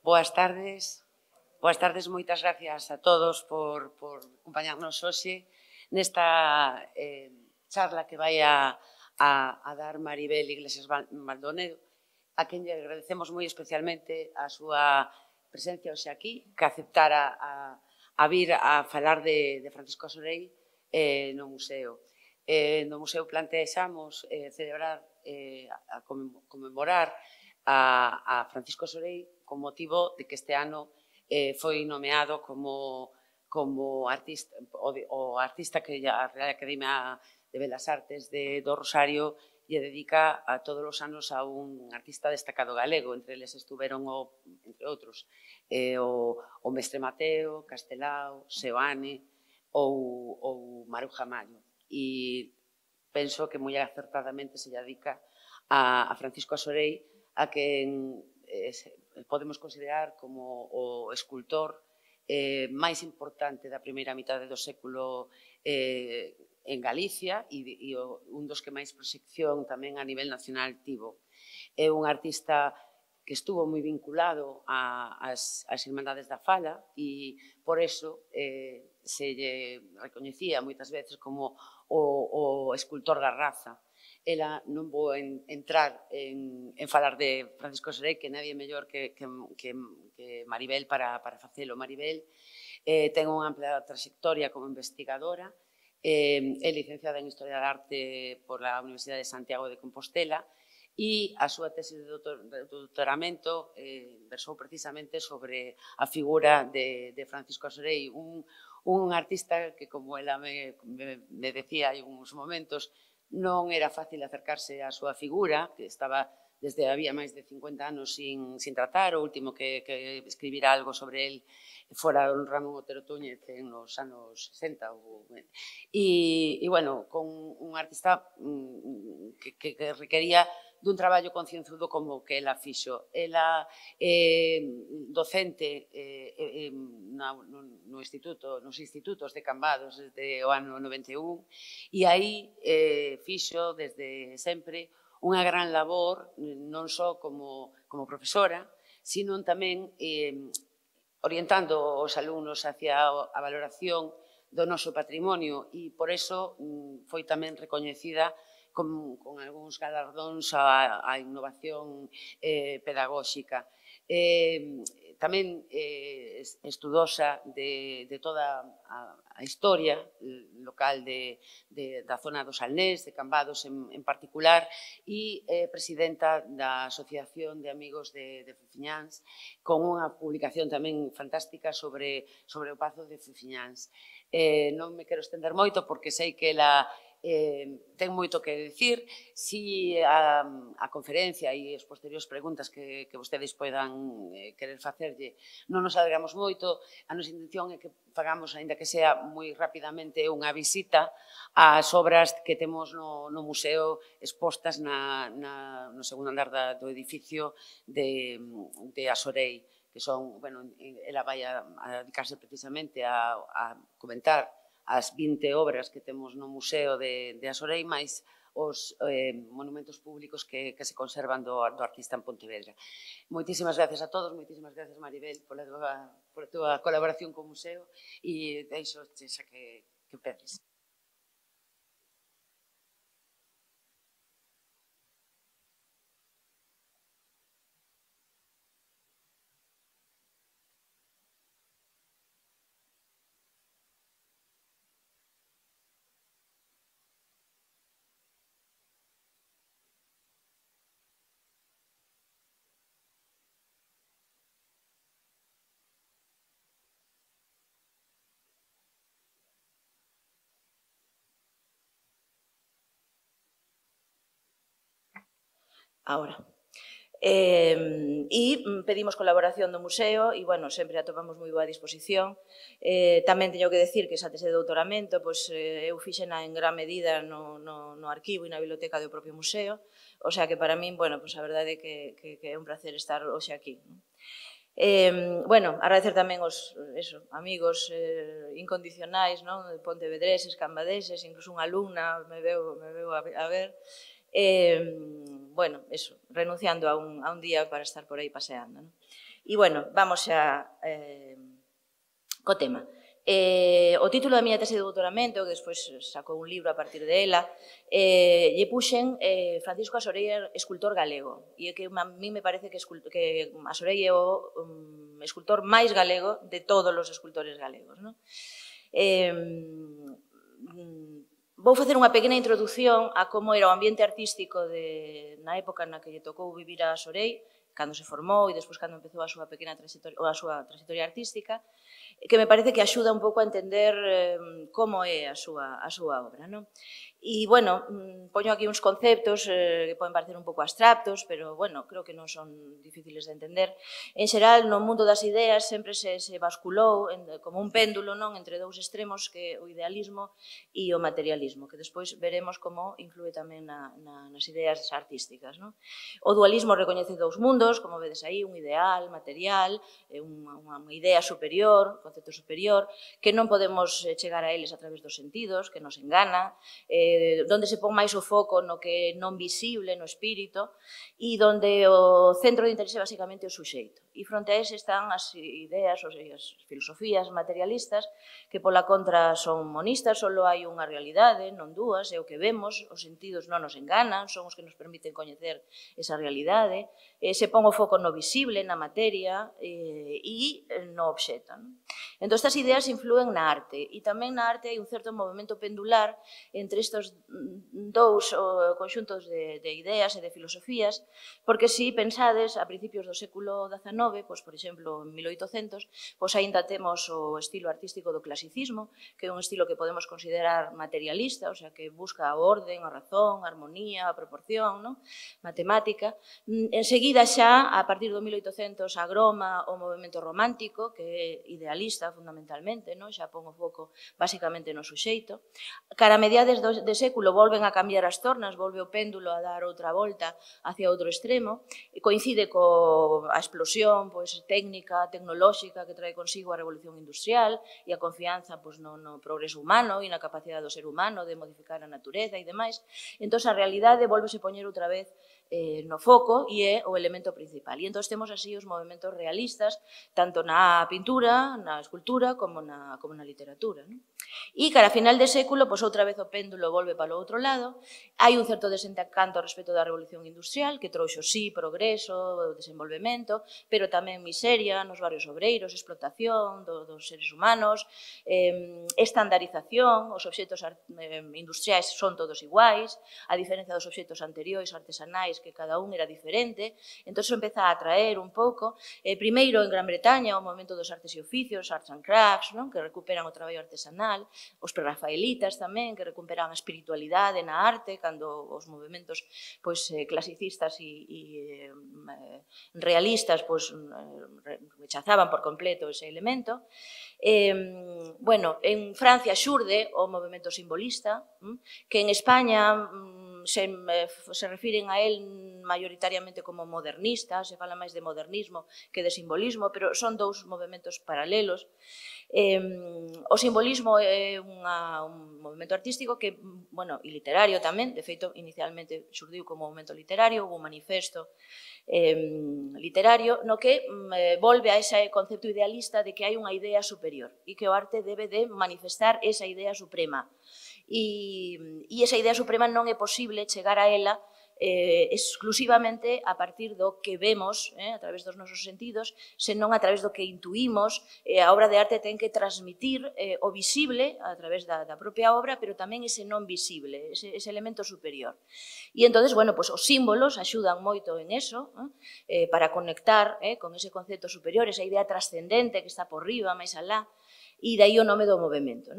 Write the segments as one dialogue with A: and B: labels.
A: Boas tardes, moitas gracias a todos por acompañarnos hoxe nesta charla que vai a dar Maribel Iglesias Maldonado, a quen lle agradecemos moi especialmente a súa presencia hoxe aquí, que aceptara a vir a falar de Francisco Asorei no museo. No museo plantexamos celebrar, a conmemorar a Francisco Asorei con motivo de que este ano foi nomeado como artista, o artista que a Real Academia de Belas Artes do Rosario lle dedica a todos os anos a un artista destacado galego. Entre eles estuveron, entre outros, o Mestre Mateo, Castelao, Seoane ou Maruja Mayo. E penso que moi acertadamente se dedica a Francisco Asorei, a quen podemos considerar como o escultor máis importante da primeira mitade do século en Galicia e un dos que máis proxección tamén a nivel nacional tivo. É un artista que estuvo moi vinculado ás Irmandades da Fala e por eso se lle recoñecía moitas veces como o escultor da raza. Ela non vou entrar en falar de Francisco Asorei, que nadie mellor que Maribel para facelo. Maribel ten unha ampla trayectoria como investigadora, é licenciada en Historia da Arte pola Universidade de Santiago de Compostela e a súa tese de doutoramento versou precisamente sobre a figura de Francisco Asorei, un artista que, como ela me decía hai uns momentos, non era fácil acercarse á súa figura, que estaba desde había máis de 50 anos sin tratar. O último que escribira algo sobre el fora don Ramón Otero Túñez nos anos 60. E, bueno, con un artista que requería dun traballo concienzudo como que ela fixo. Ela docente nos institutos de Cambados desde o ano 91 e aí fixo desde sempre unha gran labor, non só como profesora, sino tamén orientando os alumnos hacia a valoración do noso patrimonio e por eso foi tamén recoñecida con algúns galardóns á innovación pedagóxica. Tamén estudosa de toda a historia local da zona do Salnés, de Cambados en particular, e presidenta da Asociación de Amigos de Fufiñáns, con unha publicación tamén fantástica sobre o Pazo de Fufiñáns. Non me quero estender moito porque sei que ela ten moito que dicir. Si a conferencia e as posteriores preguntas que vostedes poidan querer facerlle non nos alargamos moito, a nosa intención é que fagamos, aínda que sea moi rapidamente, unha visita ás obras que temos no museo expostas no segundo andar do edificio de Asorei, que son, bueno, ela vai a dedicarse precisamente a comentar as 20 obras que temos no museo de Asorei, máis os monumentos públicos que se conservan do artista en Pontevedra. Moitísimas gracias a todos, moitísimas gracias, Maribel, pola túa colaboración co museo e deixo xa que empeces.
B: Ahora. E pedimos colaboración do museo e, bueno, sempre atopamos moi boa disposición. Tamén teño que decir que esa tese de doutoramento eu fixena en gran medida no arquivo e na biblioteca do propio museo, o sea que para min, bueno, a verdade é que é un placer estar hoxe aquí. Bueno, agradecer tamén os amigos incondicionais, pontevedreses, cambadeses, incluso unha alumna me veu a ver. Bueno, renunciando a un día para estar por aí paseando. E, bueno, vamos co tema. O título da miña tese de doutoramento, que despois sacou un libro a partir de ela, lle puxen Francisco Asorei, escultor galego. E é que a mí me parece que Asorei é o escultor máis galego de todos os escultores galegos. Vou facer unha pequena introdución a como era o ambiente artístico na época na que lle tocou vivir a Asorei, cando se formou e despois cando empezou a súa pequena trayectoria artística, que me parece que axuda un pouco a entender como é a súa obra. E, bueno, poño aquí uns conceptos que poden parecer un pouco abstractos, pero, bueno, creo que non son difíciles de entender. En xeral, no mundo das ideas sempre se basculou como un péndulo entre dous extremos, que é o idealismo e o materialismo, que despois veremos como influe tamén nas ideas artísticas. O dualismo recoñece dous mundos, como vedes aí, un ideal, material, unha idea superior, concepto superior, que non podemos chegar a eles a través dos sentidos, que nos engana, donde se pon máis o foco no que é non visible, no espírito, e donde o centro de interese basicamente é o suxeito. E fronte a ese están as ideas, as filosofías materialistas, que pola contra son monistas, só hai unha realidade, non dúas, é o que vemos, os sentidos non nos enganan, son os que nos permiten coñecer esa realidade, se pon o foco no visible, na materia e no obxecto. Entón, estas ideas influen na arte, e tamén na arte hai un certo movimento pendular entre estes dous conxuntos de ideas e de filosofías, porque se pensades a principios do século XIX, por exemplo, en 1800, aínda temos o estilo artístico do clasicismo, que é un estilo que podemos considerar materialista, o sea, que busca a orden, a razón, a armonía, a proporción, matemática. Enseguida xa, a partir do 1800, agroma o movimento romántico, que é idealista fundamentalmente, xa pon o foco basicamente no suxeito. Cara a mediades de século volven a cambiar as tornas, volve o péndulo a dar outra volta hacia outro extremo, e coincide coa explosión técnica, tecnolóxica que trae consigo a revolución industrial e a confianza no progreso humano e na capacidade do ser humano de modificar a natureza e demais. Entón, a realidade volvese poñer outra vez no foco e é o elemento principal. E entón temos así os movimentos realistas, tanto na pintura, na escultura, como na literatura. E cara a final de século, outra vez o péndulo volve para o outro lado, hai un certo desencanto respecto da revolución industrial, que trouxo sí progreso, desenvolvemento, pero tamén miseria nos barrios obreiros, explotación dos seres humanos, estandarización, os obxectos industriais son todos iguais, a diferencia dos obxectos anteriores artesanais, que cada un era diferente. Entón, empeza a atraer un pouco, primeiro en Gran Bretaña, o movimento dos artes e oficios, arts and crafts, que recuperan o traballo artesanal, os prerrafaelitas tamén, que recuperan a espiritualidade na arte, cando os movimentos clasicistas e realistas rechazaban por completo ese elemento. En Francia xurde o movimento simbolista, que en España se refiren a él maioritariamente como modernista, se fala máis de modernismo que de simbolismo, pero son dous movimentos paralelos. O simbolismo é un movimento artístico que, e literario tamén, de feito, inicialmente xurdiu como movimento literario, houve un manifesto literario, no que volve a ese concepto idealista de que hai unha idea superior e que o arte debe de manifestar esa idea suprema. E esa idea suprema non é posible chegar a ela exclusivamente a partir do que vemos a través dos nosos sentidos, senón a través do que intuímos. A obra de arte ten que transmitir o visible a través da propia obra, pero tamén ese non visible, ese elemento superior. E entón, os símbolos axudan moito en eso, para conectar con ese concepto superior, esa idea trascendente que está por riba, máis alá, e dai o nome do movimento.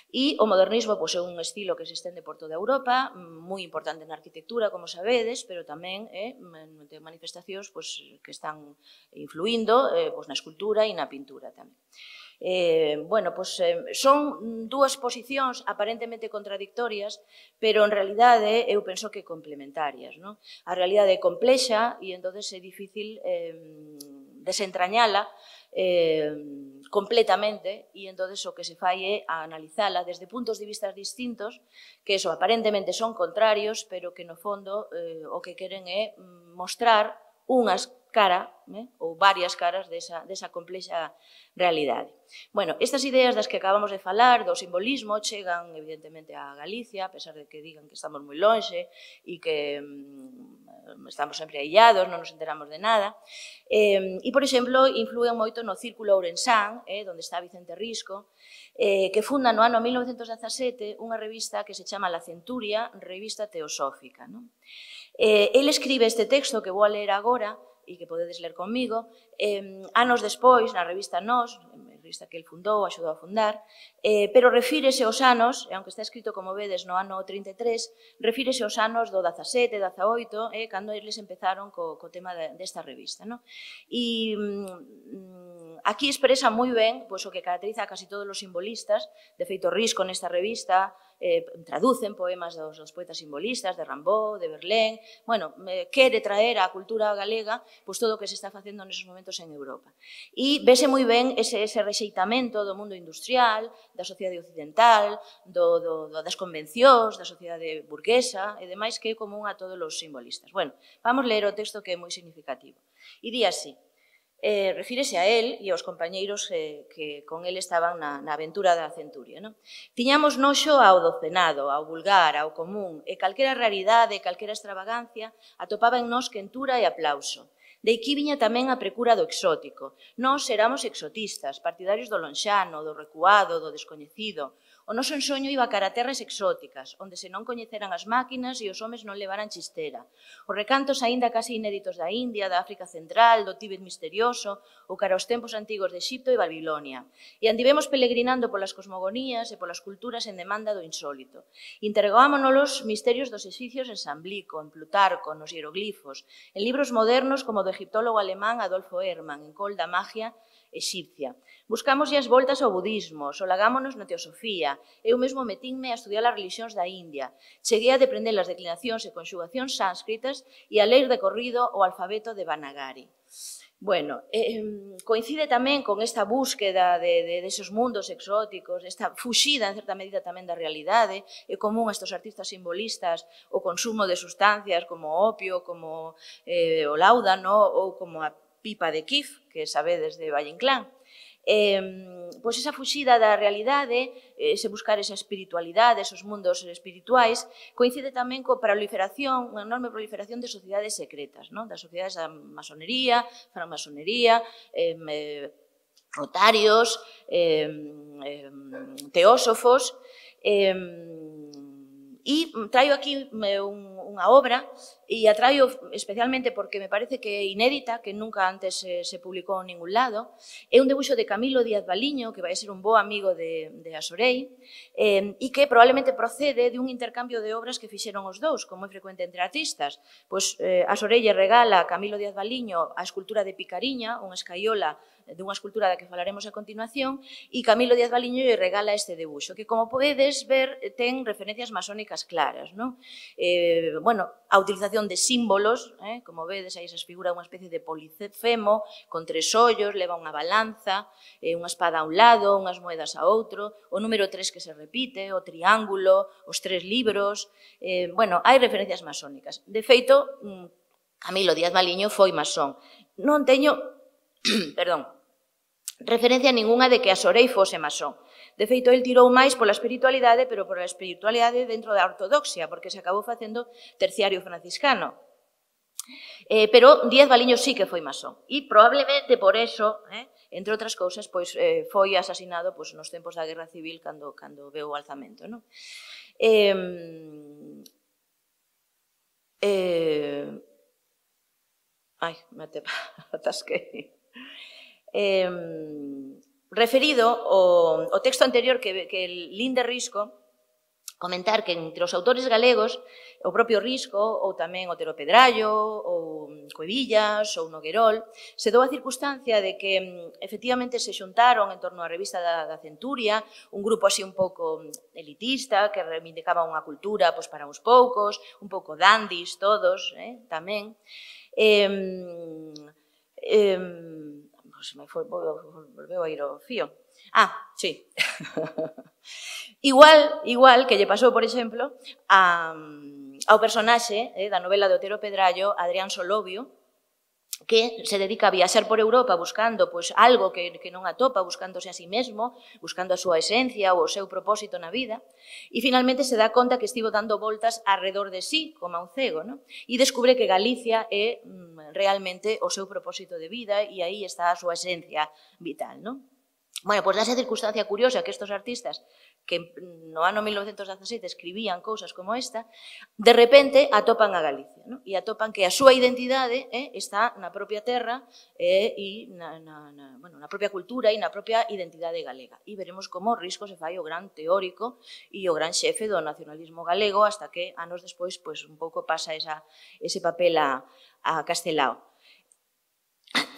B: E o modernismo é un estilo que se estende por toda Europa, moi importante na arquitectura, como sabedes, pero tamén ten manifestacións que están influindo na escultura e na pintura tamén. Son dúas posicións aparentemente contradictorias, pero en realidade eu penso que complementarias. A realidade é complexa e entón é difícil desentrañala completamente, e entón o que se fai é analizala desde puntos de vista distintos, que aparentemente son contrarios, pero que no fondo o que queren é mostrar unhas cara, ou varias caras desa complexa realidade. Bueno, estas ideas das que acabamos de falar, do simbolismo, chegan evidentemente a Galicia, a pesar de que digan que estamos moi lonxe e que estamos sempre aillados, non nos enteramos de nada. E, por exemplo, influen moito no Círculo Ourensán, onde está Vicente Risco, que funda no ano 1917 unha revista que se chama La Centuria, revista teosófica. El escribe este texto que vou a ler agora, e que podedes ler comigo, anos despois, na revista Nós, revista que el fundou, axudou a fundar, pero refírese aos anos, e aunque está escrito, como vedes, no ano 33, refírese aos anos do 17, 18, cando eles empezaron co tema desta revista. E aquí expresa moi ben o que caracteriza a casi todos os simbolistas. De feito, Risco nesta revista traducen poemas dos poetas simbolistas, de Rimbaud, de Verlaine. Bueno, quere traer á cultura galega todo o que se está facendo neses momentos en Europa. E vese moi ben ese rexeitamento do mundo industrial, da sociedade occidental, das convencións, da sociedade burguesa e demais, que é común a todos os simbolistas. Bueno, vamos ler o texto, que é moi significativo. E di así: refírese a él e aos compañeiros que con él estaban na aventura da Centuria. Tiñamos noxo ao docenado, ao vulgar, ao común, e calquera raridade, calquera extravagancia atopaba en nós quentura e aplauso. De aquí viña tamén a precura do exótico. Nós éramos exotistas, partidarios do lonxano, do recuado, do descoñecido. O noso ensoño iba cara a terras exóticas, onde se non coñeceran as máquinas e os homes non levaran chistera. Os recantos aínda casi inéditos da India, da África Central, do Tíbet misterioso, ou cara aos tempos antigos de Exipto e Babilonia. E andivemos peregrinando polas cosmogonías e polas culturas en demanda do insólito. Interrogámonos os misterios dos exicios en Samblico, en Plutarco, nos hieroglifos, en libros modernos como do egiptólogo alemán Adolfo Hermann, en Col da Magia exipcia. Buscamos as voltas ao budismo, solagámonos na teosofía. Eu mesmo metínme a estudiar as religións da India. Cheguei a deprender as declinacións e conxugacións sánscritas e a ler de corrido o alfabeto de Banagari. Bueno, coincide tamén con esta búsqueda deses mundos exóticos, esta fuxida, en certa medida, tamén da realidade. É común a estes artistas simbolistas o consumo de sustancias como o opio, como o láudano ou como a pipa de Kif, que sabedes de Valle Inclán. Pois esa fuxida da realidade, ese buscar esa espiritualidade, esos mundos espirituais, coincide tamén coa proliferación, unha enorme proliferación de sociedades secretas, das sociedades da masonería, francmasonería, rotarios, teósofos. E traio aquí unha obra, e a traio especialmente porque me parece que é inédita, que nunca antes se publicou en ningún lado. É un debuxo de Camilo Díaz Valiño, que vai ser un bo amigo de Asorei, e que probablemente procede de un intercambio de obras que fixeron os dous, como é frecuente entre artistas. Pois Asorei lle regala a Camilo Díaz Valiño a escultura de Picariña, unha escaiola dunha escultura da que falaremos a continuación, e Camilo Díaz Valiño lle regala este debuxo, que, como podedes ver, ten referencias masónicas claras. Bueno, a utilización de símbolos, como vedes, aí se figura unha especie de polifemo, con 3 ollos, leva unha balanza, unha espada a un lado, unhas moedas a outro, o número 3 que se repite, o triángulo, os 3 libros. Bueno, hai referencias masónicas. De feito, Camilo Díaz Valiño foi masón. Non teño, perdón, referencia ningunha de que Asorei fose masón. De feito, el tirou máis pola espiritualidade, pero pola espiritualidade dentro da ortodoxia, porque se acabou facendo terciario franciscano. Pero Díaz Valiño sí que foi masón. E probablemente por eso, entre outras cousas, foi asasinado nos tempos da Guerra Civil, cando veu o alzamento. Ai, me atasquei. Referido ao texto anterior que lin de Risco, comentar que entre os autores galegos, o propio Risco, ou tamén Otero Pedrallo, ou Cuevillas, ou Noguerol, se dou a circunstancia de que efectivamente se xuntaron en torno á revista da Centuria, un grupo así un pouco elitista, que reivindicaba unha cultura para uns poucos, un pouco dandis todos, tamén. Volveu a ir o fío. Sí. Igual que lle pasou, por exemplo, ao personaxe da novela de Otero Pedrallo, Adrián Solovio, que se dedica a viaxar por Europa buscando pois, algo que non atopa, buscándose a sí mesmo, buscando a súa esencia ou o seu propósito na vida, e finalmente se dá conta que estivo dando voltas alrededor de sí, como a un cego, non? E descubre que Galicia é realmente o seu propósito de vida e aí está a súa esencia vital, non? Bueno, pois dase circunstancia curiosa que estes artistas que no ano 1917 escribían cousas como esta, de repente atopan a Galicia, non? E atopan que a súa identidade está na propia terra e na propia cultura e na propia identidade galega. E veremos como Risco se fai o gran teórico e o gran xefe do nacionalismo galego hasta que anos despois pois, un pouco pasa ese papel a Castelao.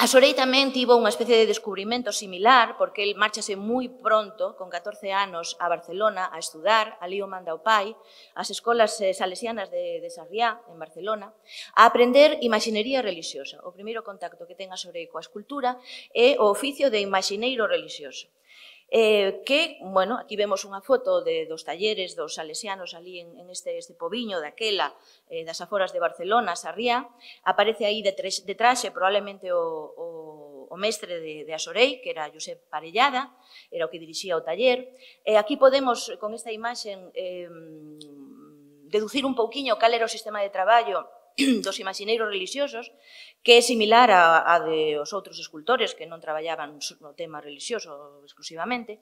B: A Sorei tamén tivo unha especie de descubrimento similar, porque el márchase moi pronto, con 14 anos, a Barcelona a estudar, ali o manda o pai, as escolas salesianas de Sarriá, en Barcelona, a aprender imaxinería religiosa. O primeiro contacto que ten a Sorei coa escultura é o oficio de imaxineiro religioso. Que, bueno, aquí vemos unha foto dos talleres dos salesianos ali en este pobiño daquela, das aforas de Barcelona, Sarriá, aparece aí de traxe probablemente o mestre de Asorei, que era Josep Parellada, era o que dirixía o taller. Aquí podemos, con esta imaxe, deducir un pouquiño cal era o sistema de traballo dos imaxineiros religiosos, que é similar a de os outros escultores que non traballaban no tema religioso exclusivamente.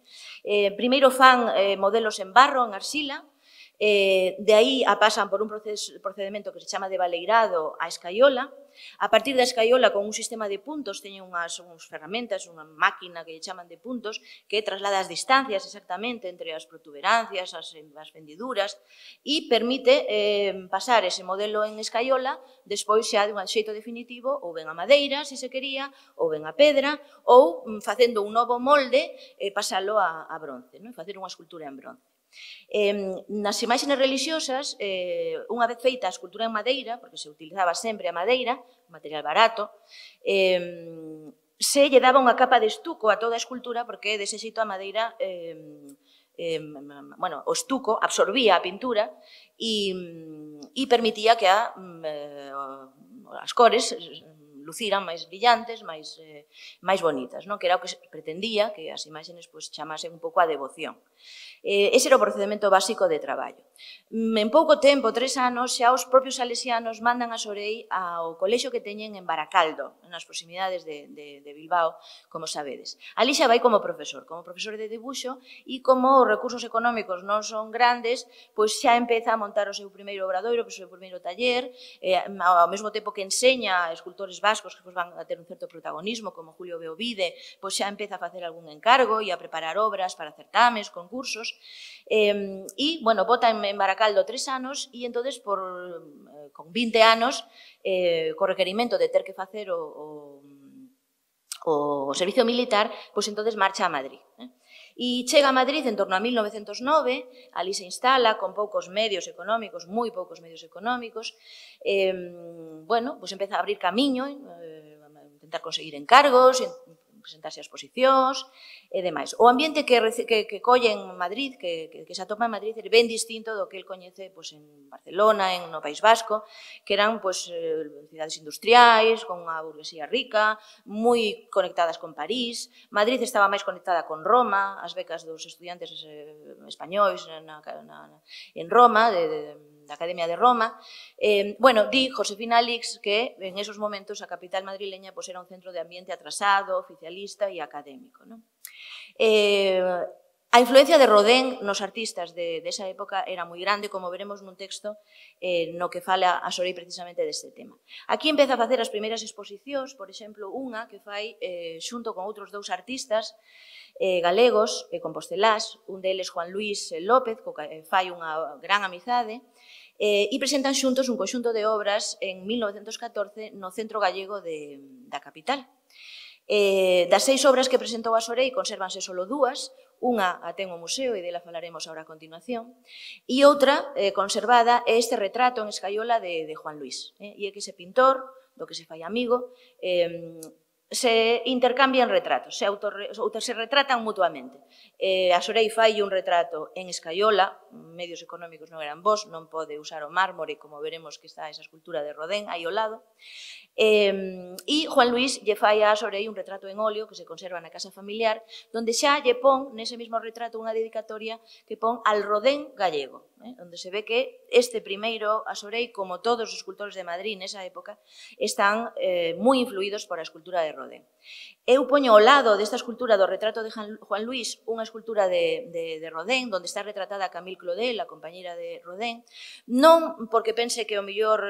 B: Primeiro fan modelos en barro, en arxila, de aí pasan por un procedimento que se chama de baleirado a escaiola. A partir da escaiola, con un sistema de puntos, teñen unhas ferramentas, unha máquina que lle chaman de puntos, que traslada as distancias exactamente entre as protuberancias, as fendiduras, e permite pasar ese modelo en escaiola, despois xa de un xeito definitivo, ou ben a madeira, se se quería, ou ben a pedra, ou facendo un novo molde, pasalo a bronce, facer unha escultura en bronce. Nas imaxes religiosas, unha vez feita a escultura en madeira, porque se utilizaba sempre a madeira, material barato, se lle daba unha capa de estuco a toda a escultura, porque dese xeito a madeira, o estuco absorbía a pintura e permitía que as cores luciran máis brillantes, máis bonitas, que era o que se pretendía, que as imaxes chamasen un pouco a devoción. Ese era o procedimento básico de traballo. En pouco tempo, 3 anos, xa os propios salesianos mandan a Sorei ao colexio que teñen en Baracaldo, nas proximidades de Bilbao, como sabedes. Ali xa vai como profesor de debuxo, e como os recursos económicos non son grandes, pois xa empeza a montar o seu primeiro obradoiro, o seu primeiro taller, ao mesmo tempo que enseña a escultores vascos que van a ter un certo protagonismo, como Julio Beovide, pois xa empeza a facer algún encargo e a preparar obras para certames, concursos, e, bueno, bota en Baracaldo 3 anos e, entonces, con 20 anos, co requerimento de ter que facer o servicio militar, pois, entonces, marcha a Madrid. E chega a Madrid en torno a 1909, ali se instala con poucos medios económicos, moi poucos medios económicos, bueno, pois empeza a abrir camiño, intentar conseguir encargos, presentarse a exposicións e demais. O ambiente que colle en Madrid, que se atopa en Madrid, é ben distinto do que el coñece en Barcelona, no País Vasco, que eran cidades industriais, con unha burguesía rica, moi conectadas con París. Madrid estaba máis conectada con Roma, as becas dos estudiantes españois en Roma, da Academia de Roma. Bueno, di Josefina Alix que en esos momentos a capital madrileña era un centro de ambiente atrasado, oficialista e académico. A influencia de Rodin nos artistas desa época era moi grande, como veremos nun texto no que fala a Sorei precisamente deste tema. Aquí empeza a facer as primeiras exposicións, por exemplo, unha que fai xunto con outros 2 artistas galegos e compostelás, un deles Juan Luis López, co que fai unha gran amizade, e presentan xuntos un conxunto de obras en 1914 no Centro Gallego da capital. Das 6 obras que presentou a Sorei, consérvanse só 2, unha a ten o museo e dela falaremos agora a continuación, e outra conservada é este retrato en escaiola de Juan Luis. E é que ese pintor, do que se fai amigo, se intercambian retratos, se retratan mutuamente. A Sorei fai un retrato en escaiola, medios económicos non eran bons, non pode usar o mármore, como veremos que está esa escultura de Rodin aí ao lado, E Juan Luis lle fai a Sorei un retrato en óleo que se conserva na casa familiar, donde xa lle pon, nese mesmo retrato, unha dedicatoria que pon al Rodén gallego, onde se ve que este primeiro a Sorei, como todos os escultores de Madrid nesa época, están moi influídos por a escultura de Rodén. Eu poño ao lado desta escultura do retrato de Juan Luis unha escultura de Rodén, onde está retratada Camille Claudel, a compañeira de Rodén, non porque pense que o mellor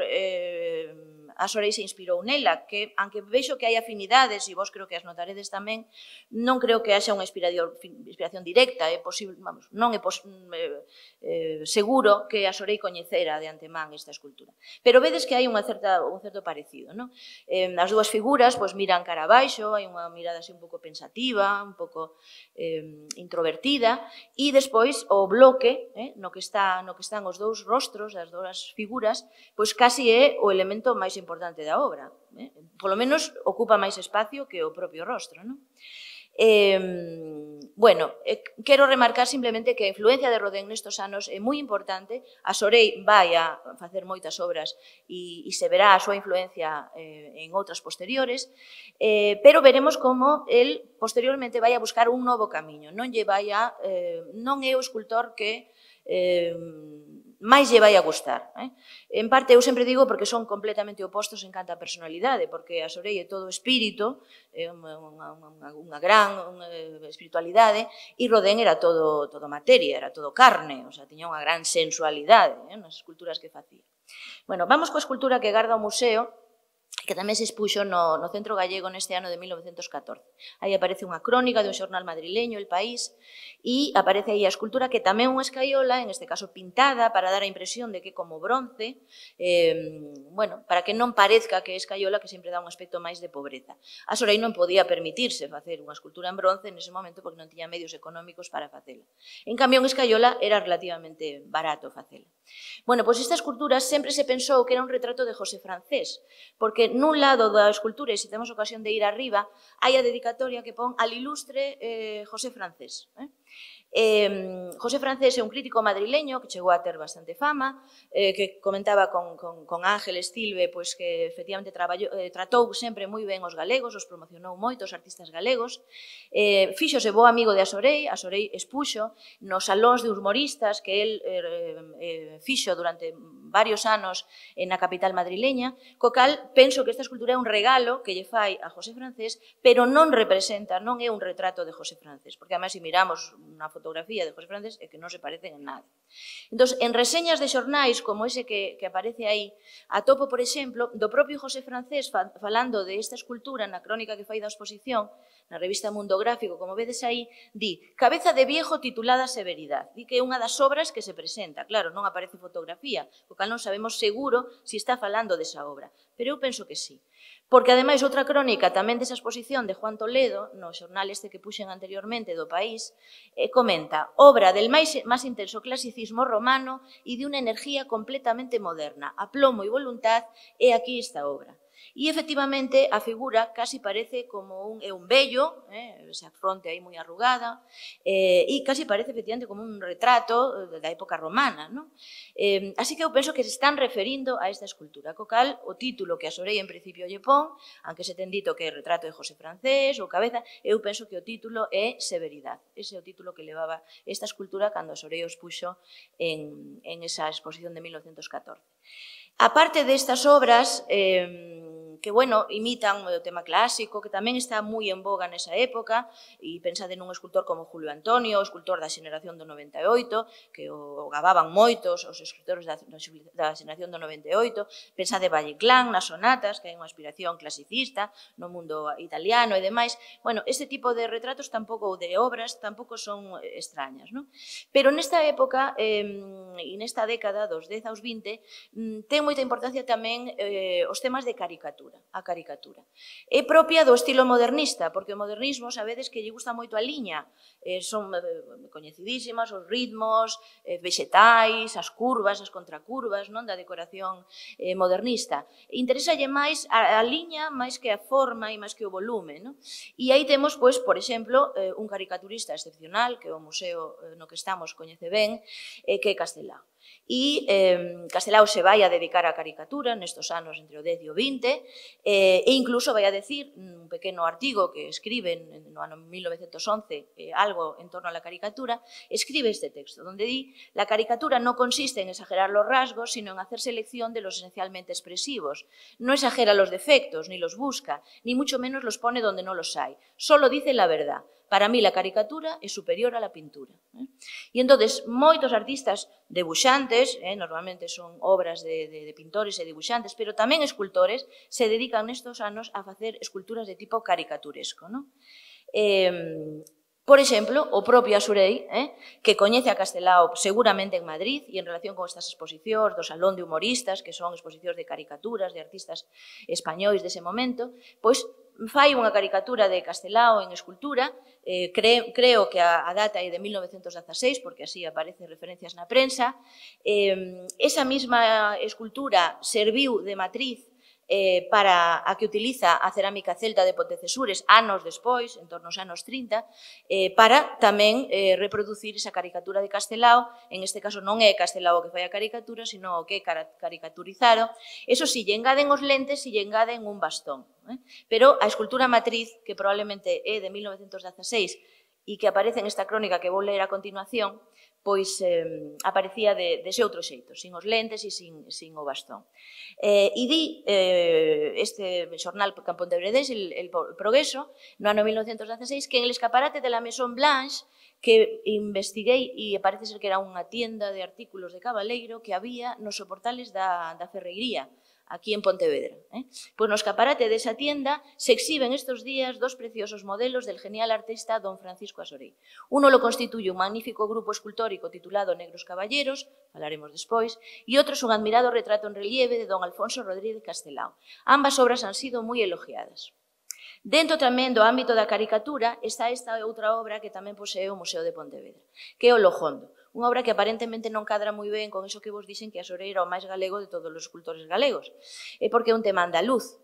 B: a Sorei se inspirou nela, que, aunque vexo que hai afinidades, e vos creo que as notaredes tamén, non creo que haxa unha inspiración directa, é posible, vamos, non é seguro que a Sorei coñecera de antemán esta escultura. Pero vedes que hai un certo parecido, non? As dúas figuras, pois, miran cara abaixo, hai unha mirada así un pouco pensativa, un pouco introvertida, e despois o bloque, no que están os dous rostros, as dúas figuras, pois casi é o elemento máis importante da obra. Polo menos ocupa máis espacio que o propio rostro, non? Bueno, quero remarcar simplemente que a influencia de Rodén nestos anos é moi importante. A Sorei vai a facer moitas obras e se verá a súa influencia en outras posteriores, pero veremos como el posteriormente vai a buscar un novo camiño. Non é o escultor que máis lle vai a gustar. En parte, eu sempre digo porque son completamente opostos en canto a personalidade, porque a Sorei é todo espírito, unha gran espiritualidade, e Rodén era todo materia, era todo carne, o sea, tiña unha gran sensualidade nas esculturas que facía. Bueno, vamos coa escultura que garda o museo, que tamén se expuxo no Centro Gallego neste ano de 1914. Aí aparece unha crónica de un xornal madrileño, El País, e aparece aí a escultura que tamén unha escaiola, en este caso pintada, para dar a impresión de que como bronce, bueno, para que non parezca que é escaiola, que sempre dá un aspecto máis de pobreza. A Sorei non podía permitirse facer unha escultura en bronce nese momento porque non tiña medios económicos para facela. En cambio, en escaiola era relativamente barato facela. Bueno, pois esta escultura sempre se pensou que era un retrato de José Francés, porque nun lado da escultura, e se temos ocasión de ir arriba, hai a dedicatoria que pon al ilustre José Francés. José Francés é un crítico madrileño que chegou a ter bastante fama, que comentaba con Ángel Estilbe que efectivamente tratou sempre moi ben os galegos, os promocionou moito os artistas galegos, fíxose bo amigo de a Sorei expuxo nos salóns de humoristas que el fixo durante varios anos na capital madrileña, co cal penso que esta escultura é un regalo que lle fai a José Francés, pero non representa, non é un retrato de José Francés, porque además se miramos unha fotografía de José Francés é que non se parecen en nada. Entón, en reseñas de xornais como ese que aparece aí, atopo, por exemplo, do propio José Francés falando de esta escultura na crónica que fai da exposición, na revista Mundo Gráfico, como vedes aí, di Cabeza de viejo titulada Severidad. Di que é unha das obras que se presenta. Claro, non aparece fotografía, o cal non sabemos seguro se está falando desa obra, pero eu penso que sí. Porque, ademais, outra crónica tamén desa exposición de Juan Toledo, no xornal este que puxen anteriormente do País, comenta, obra del máis intenso clasicismo romano e de unha enerxía completamente moderna, aplomo e voluntad, e aquí esta obra. E, efectivamente, a figura casi parece como un vello, esa fronte aí moi arrugada, e casi parece, efectivamente, como un retrato da época romana. Así que eu penso que se están referindo a esta escultura, co cal o título que a Sorei en principio lle pon, aunque se ten dito que é retrato de José Francés ou Cabeza, eu penso que o título é Severidad. Ese é o título que levaba esta escultura cando a Sorei os puxo en esa exposición de 1914. A parte destas obras que, bueno, imitan o tema clásico, que tamén está moi en boga nesa época, e pensade nun escultor como Julio Antonio, o escultor da xeración do 98, que o gababan moitos os escultores da xeración do 98, pensade Valle-Inclán nas sonatas, que hai unha aspiración clasicista no mundo italiano e demais. Bueno, este tipo de retratos tampouco, ou de obras, tampouco son extrañas, non? Pero nesta época, e nesta década dos 10 aos 20, ten moita importancia tamén os temas de caricatura, a caricatura. É propia do estilo modernista, porque o modernismo, sabedes que lle gusta moito a liña, son coñecidísimas os ritmos vexetais, as curvas, as contracurvas da decoración modernista. Interésalle máis a liña máis que a forma e máis que o volume. E aí temos, por exemplo, un caricaturista excepcional, que o museo no que estamos coñece ben, que é Castelao. E Castelao se vai a dedicar á caricatura nestos anos entre o 10 e o 20 e incluso vai a decir un pequeno artigo que escribe no ano 1911 algo en torno a la caricatura, escribe este texto donde di: la caricatura no consiste en exagerar los rasgos, sino en hacer selección de los esencialmente expresivos. No exagera los defectos, ni los busca, ni mucho menos los pone donde no los hay. Solo dice la verdad. Para mí la caricatura é superior a la pintura. E entonces moitos artistas debuxantes, normalmente son obras de pintores e debuxantes, pero tamén escultores, se dedican nestos anos a facer esculturas de tipo caricaturesco. Por exemplo, o propio Asurei, que coñece a Castelao seguramente en Madrid e en relación con estas exposicións do Salón de Humoristas, que son exposicións de caricaturas de artistas españois dese momento, pois fai unha caricatura de Castelao en escultura, creo que a data é de 1916, porque así aparecen referencias na prensa. Esa mesma escultura serviu de matriz para a que utiliza a cerámica celta de Pontecesures anos despois, en torno aos anos 30, para tamén reproducir esa caricatura de Castelao. En este caso non é Castelao que fai a caricatura, sino o que é caricaturizado. Eso si, lle engaden os lentes e lle engaden un bastón. Pero a escultura matriz, que probablemente é de 1916 e que aparece en esta crónica que vou ler a continuación, pois aparecía dese outro xeito, sin os lentes e sin o bastón. E di este xornal campontebredense, el Progreso, no ano 1916, que en el escaparate de la Maison Blanche, que investiguei e parece ser que era unha tienda de artículos de cabaleiro que había nos soportales da Ferreiría, aquí en Pontevedra. Pois no escaparate desa tienda se exhiben estos días dos preciosos modelos del genial artista don Francisco Asorei. Uno lo constituye un magnífico grupo escultórico titulado Negros Caballeros, falaremos despois, e outro es un admirado retrato en relieve de don Alfonso Rodríguez Castelao. Ambas obras han sido moi elogiadas. Dentro tamén do ámbito da caricatura está esta outra obra que tamén posee o Museo de Pontevedra, que é o Lojondo, unha obra que aparentemente non cadra moi ben con iso que vos dixen que Asorei era o máis galego de todos os escultores galegos, porque é un tema andaluz,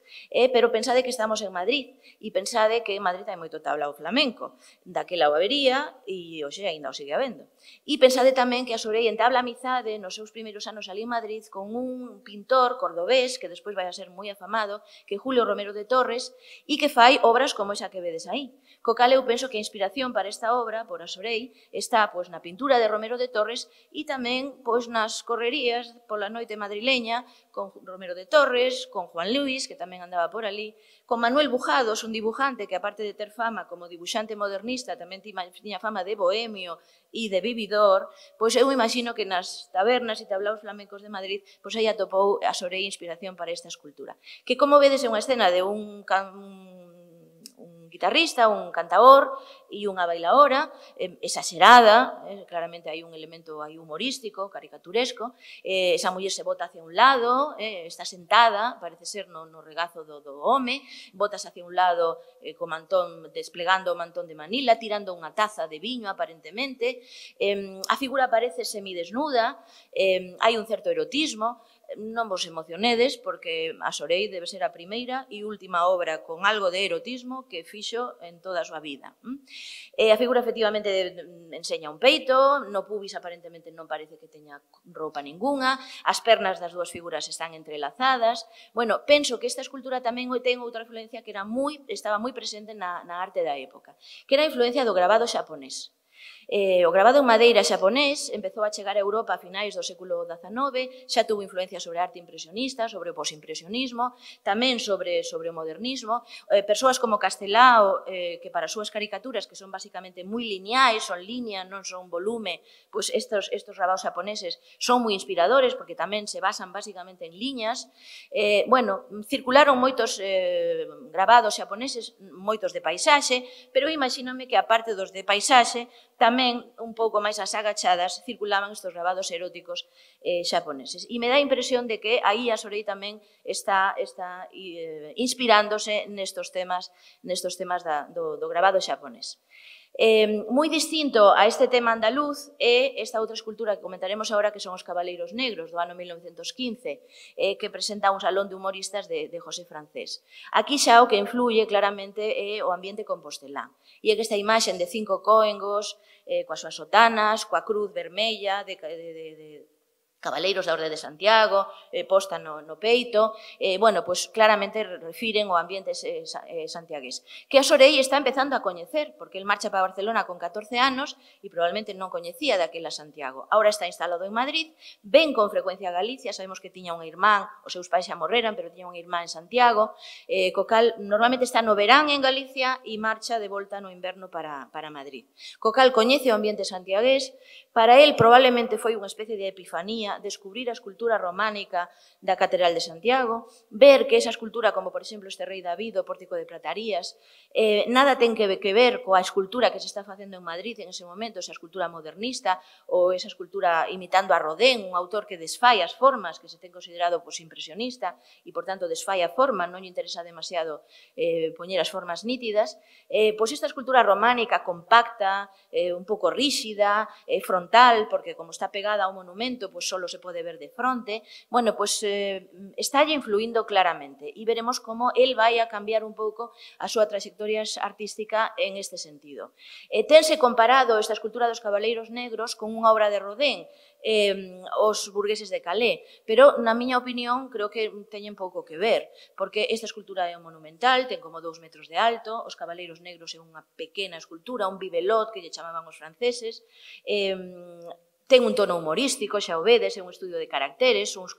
B: pero pensade que estamos en Madrid, e pensade que en Madrid hai moito tablao flamenco, daquela o habería, e hoxe ainda o sigue habendo. E pensade tamén que Asorei entabla amizade nos seus primeiros anos ali en Madrid con un pintor cordobés, que despois vai a ser moi afamado, que é Julio Romero de Torres, e que fai obras como esa que vedes aí. Co cal eu penso que a inspiración para esta obra, por Asorei, está na pintura de Romero de Torres e tamén nas correrías pola noite madrileña con Romero de Torres, con Juan Luis, que tamén andaba por ali, con Manuel Bujados, un dibujante que, aparte de ter fama como dibuxante modernista, tamén tiña fama de bohemio e de vividor, pois eu imagino que nas tabernas e tablaos flamencos de Madrid pois aí atopou Asorei inspiración para esta escultura, que, como vedes, é unha escena de un guitarrista, un cantaor e unha bailaora, exagerada, claramente hai un elemento aí humorístico, caricaturesco, esa muller se bota hacia un lado, está sentada, parece ser no regazo do home, botas hacia un lado co mantón, desplegando o mantón de Manila, tirando unha taza de viño, aparentemente, a figura parece semidesnuda, hai un certo erotismo. Non vos emocionedes, porque Asorei debe ser a primeira e última obra con algo de erotismo que fixo en toda a súa vida. A figura efectivamente enseña un peito, no pubis aparentemente non parece que teña roupa ninguna, as pernas das dúas figuras están entrelazadas. Bueno, penso que esta escultura tamén ten outra influencia que estaba moi presente na arte da época, que era a influencia do grabado xaponés. O grabado en madeira xaponés empezou a chegar a Europa a finais do século XIX, xa tuvo influencia sobre a arte impresionista, sobre o posimpresionismo, tamén sobre o modernismo. Persoas como Castelao, que para as súas caricaturas, que son basicamente moi lineais, son línea, non son volume, pois estos grabados xaponeses son moi inspiradores, porque tamén se basan basicamente en liñas. Bueno, circularon moitos grabados xaponeses, moitos de paisaxe, pero imagíname que, aparte dos de paisaxe, tamén un pouco máis as agachadas circulaban estes grabados eróticos xaponeses. E me dá a impresión de que aí Asorei tamén está inspirándose nestos temas do grabado xaponés. Moi distinto a este tema andaluz é esta outra escultura que comentaremos agora, que son os Cabaleiros Negros, do ano 1915, que presenta un salón de humoristas de José Francés. Aquí xa o que influye claramente é o ambiente compostelán. E é que esta imaxe de 5 coengos, coas súas sotanas, coa cruz vermella, Cabaleiros da Orde de Santiago, posta no peito, bueno, pois claramente refiren o ambiente santiagués. Que a Sorei está empezando a coñecer, porque el marcha para Barcelona con 14 anos e probablemente non coñecía daquela Santiago. Ahora está instalado en Madrid, ven con frecuencia a Galicia, sabemos que tiña unha irmán, os seus pais xa morreran, pero tiña unha irmán en Santiago, co cal normalmente está no verán en Galicia e marcha de volta no inverno para Madrid. Co cal coñece o ambiente santiagués, para él probablemente foi unha especie de epifanía descubrir a escultura románica da Catedral de Santiago, ver que esa escultura, como por exemplo este Rei David, o Pórtico de Platarías, nada ten que ver coa escultura que se está facendo en Madrid en ese momento, esa escultura modernista ou esa escultura imitando a Rodin, un autor que desfai as formas, que se ten considerado impresionista e, por tanto, desfai a forma, non lle interesa demasiado poñer as formas nítidas. Pois esta escultura románica compacta, un pouco ríxida, frontal, porque como está pegada ao monumento, pois só se pode ver de fronte, bueno, pois estálle influindo claramente e veremos como el vai a cambiar un pouco a súa trayectoria artística en este sentido. Tense comparado esta escultura dos Cabaleiros Negros con unha obra de Rodin, os burgueses de Calais, pero na miña opinión creo que teñen pouco que ver, porque esta escultura é monumental, ten como 2 metros de alto, os Cabaleiros Negros é unha pequena escultura, un bibelot que lle chamaban os franceses, ten un tono humorístico, xa o vedes, é un estudio de caracteres, uns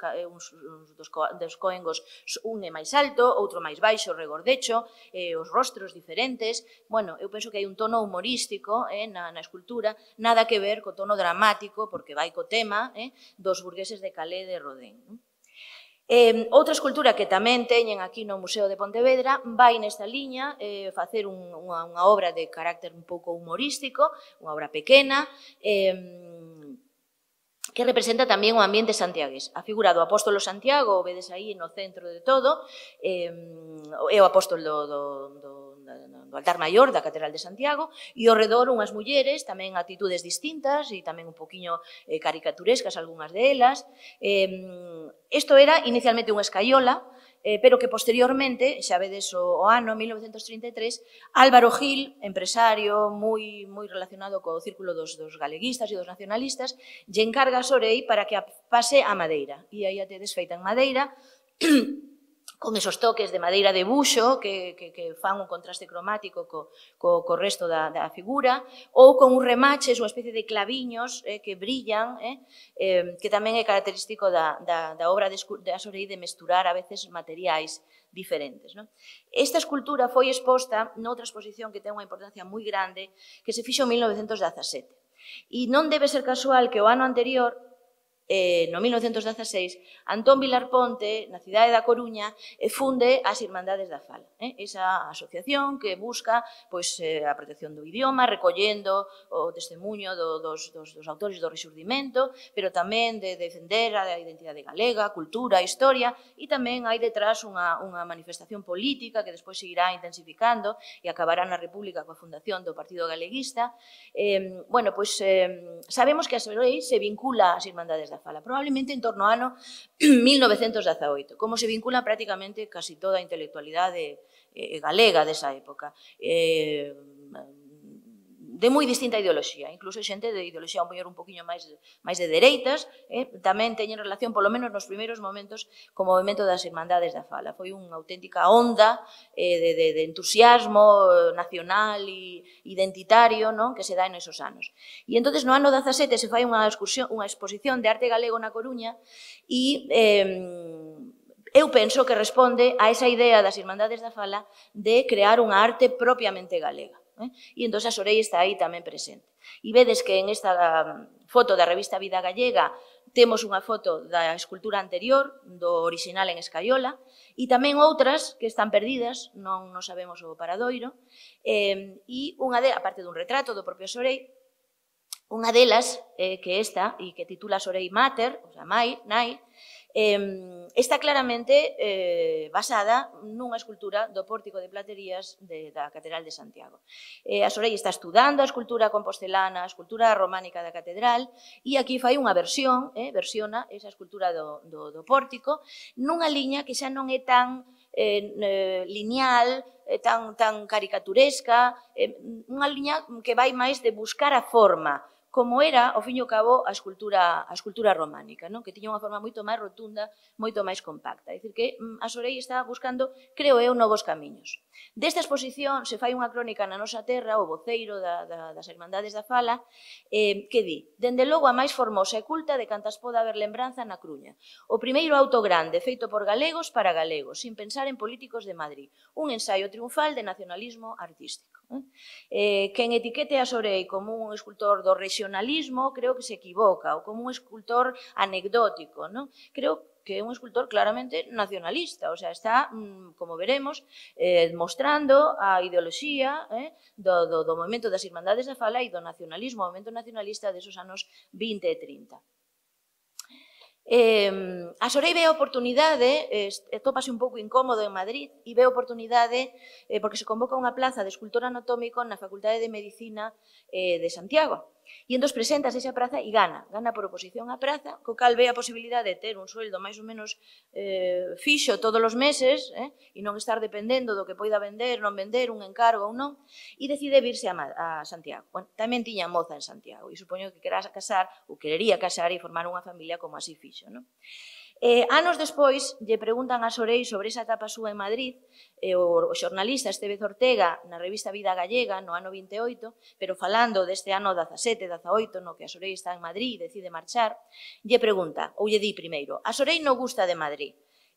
B: dos coengos, un é máis alto, outro máis baixo, regordecho, os rostros diferentes. Bueno, eu penso que hai un tono humorístico na escultura, nada que ver co tono dramático, porque vai co tema dos burgueses de Calais de Rodin. Outra escultura que tamén teñen aquí no Museo de Pontevedra vai nesta liña, facer unha obra de carácter un pouco humorístico, unha obra pequena, que representa tamén o ambiente santiagués. A figura do apóstolo Santiago, o vedes aí no centro de todo, é o apóstolo do altar maior da Catedral de Santiago, e ao redor unhas mulleres, tamén actitudes distintas e tamén un poquinho caricaturescas algunhas delas. Isto era inicialmente unha escaiola, pero que posteriormente, xa vedes o ano 1933, Álvaro Gil, empresario moi relacionado co círculo dos galeguistas e dos nacionalistas, lle encarga a Sorei para que a pase a madeira. E aí a tedes feita en madeira, con esos toques de madeira de buxo que fan un contraste cromático co resto da figura, ou con un remaches, unha especie de claviños que brillan, que tamén é característico da obra de Sorei de mesturar a veces materiais diferentes. Esta escultura foi exposta noutra exposición que ten unha importancia moi grande, que se fixo en 1917. E non debe ser casual que o ano anterior, no 1916, Antón Vilar Ponte, na cidade da Coruña, funde as Irmandades da Fala, esa asociación que busca a protección do idioma, recollendo o testemunho dos autores do Rexurdimento, pero tamén de defender a identidade galega, a cultura, a historia, e tamén hai detrás unha manifestación política que despois seguirá intensificando e acabará na República coa fundación do Partido Galeguista. Sabemos que a Sorei se vincula ás Irmandades da Fala, probablemente en torno ao ano 1918, como se vincula prácticamente casi toda a intelectualidade galega desa época, de moi distinta ideoloxía, incluso xente de ideoloxía un poquinho máis de dereitas, tamén teñen relación, polo menos nos primeiros momentos, co movimento das Irmandades da Fala. Foi unha auténtica onda de entusiasmo nacional e identitario que se dá nesos anos. E entón, no ano 17 se fai unha exposición de arte galego na Coruña e eu penso que responde a esa idea das Irmandades da Fala de crear unha arte propiamente galega. E entón a Sorei está aí tamén presente. E vedes que en esta foto da revista Vida Gallega temos unha foto da escultura anterior, do orixinal en escaiola, e tamén outras que están perdidas, non sabemos o paradoiro, e unha delas, aparte dun retrato do propio Sorei, unha delas, que esta, e que titula Sorei Mater, ou sea, Nai, está claramente basada nunha escultura do Pórtico de Platerías da Catedral de Santiago. A Sorei está estudando a escultura compostelana, a escultura románica da Catedral, e aquí fai unha versiona esa escultura do Pórtico, nunha liña que xa non é tan lineal, tan caricaturesca, unha liña que vai máis de buscar a forma como era, ao fin e ao cabo, a escultura románica, non? Que tiña unha forma moito máis rotunda, moito máis compacta. É dicir, que a Sorei está buscando, creo eu, novos camiños. Desta exposición se fai unha crónica na nosa terra, o voceiro das Irmandades da Fala, que di: dende logo a máis formosa e culta de cantas poda haber lembranza na Cruña. O primeiro auto grande, feito por galegos para galegos, sin pensar en políticos de Madrid. Un ensaio triunfal de nacionalismo artístico. Quen etiquete a Sorei como un escultor do regionalismo, creo que se equivoca, ou como un escultor anecdótico, non? Creo que é un escultor claramente nacionalista, o sea, está, como veremos, mostrando a ideoloxía do movimento das Irmandades da Fala e do nacionalismo, o movimento nacionalista desos anos 20 e 30. A Sorei ve a oportunidade, tópase un pouco incómodo en Madrid, e ve a oportunidade porque se convoca unha plaza de escultor anatómico na Facultade de Medicina de Santiago. E entón preséntase esa praza e gana por oposición á praza, co cal ve a posibilidade de ter un sueldo máis ou menos fixo todos os meses e non estar dependendo do que poida vender, non vender, un encargo ou non, e decide virse a Santiago. Bueno, tamén tiña moza en Santiago e supoño que querería casar e formar unha familia como así fixo, non? Anos despois, lle preguntan a Sorei sobre esa etapa súa en Madrid, o xornalista Estevez Ortega, na revista Vida Gallega, no ano 28, pero falando deste ano 17, 18, no que a Sorei está en Madrid e decide marchar, lle pregunta, ou lle di primeiro, a Sorei non gusta de Madrid,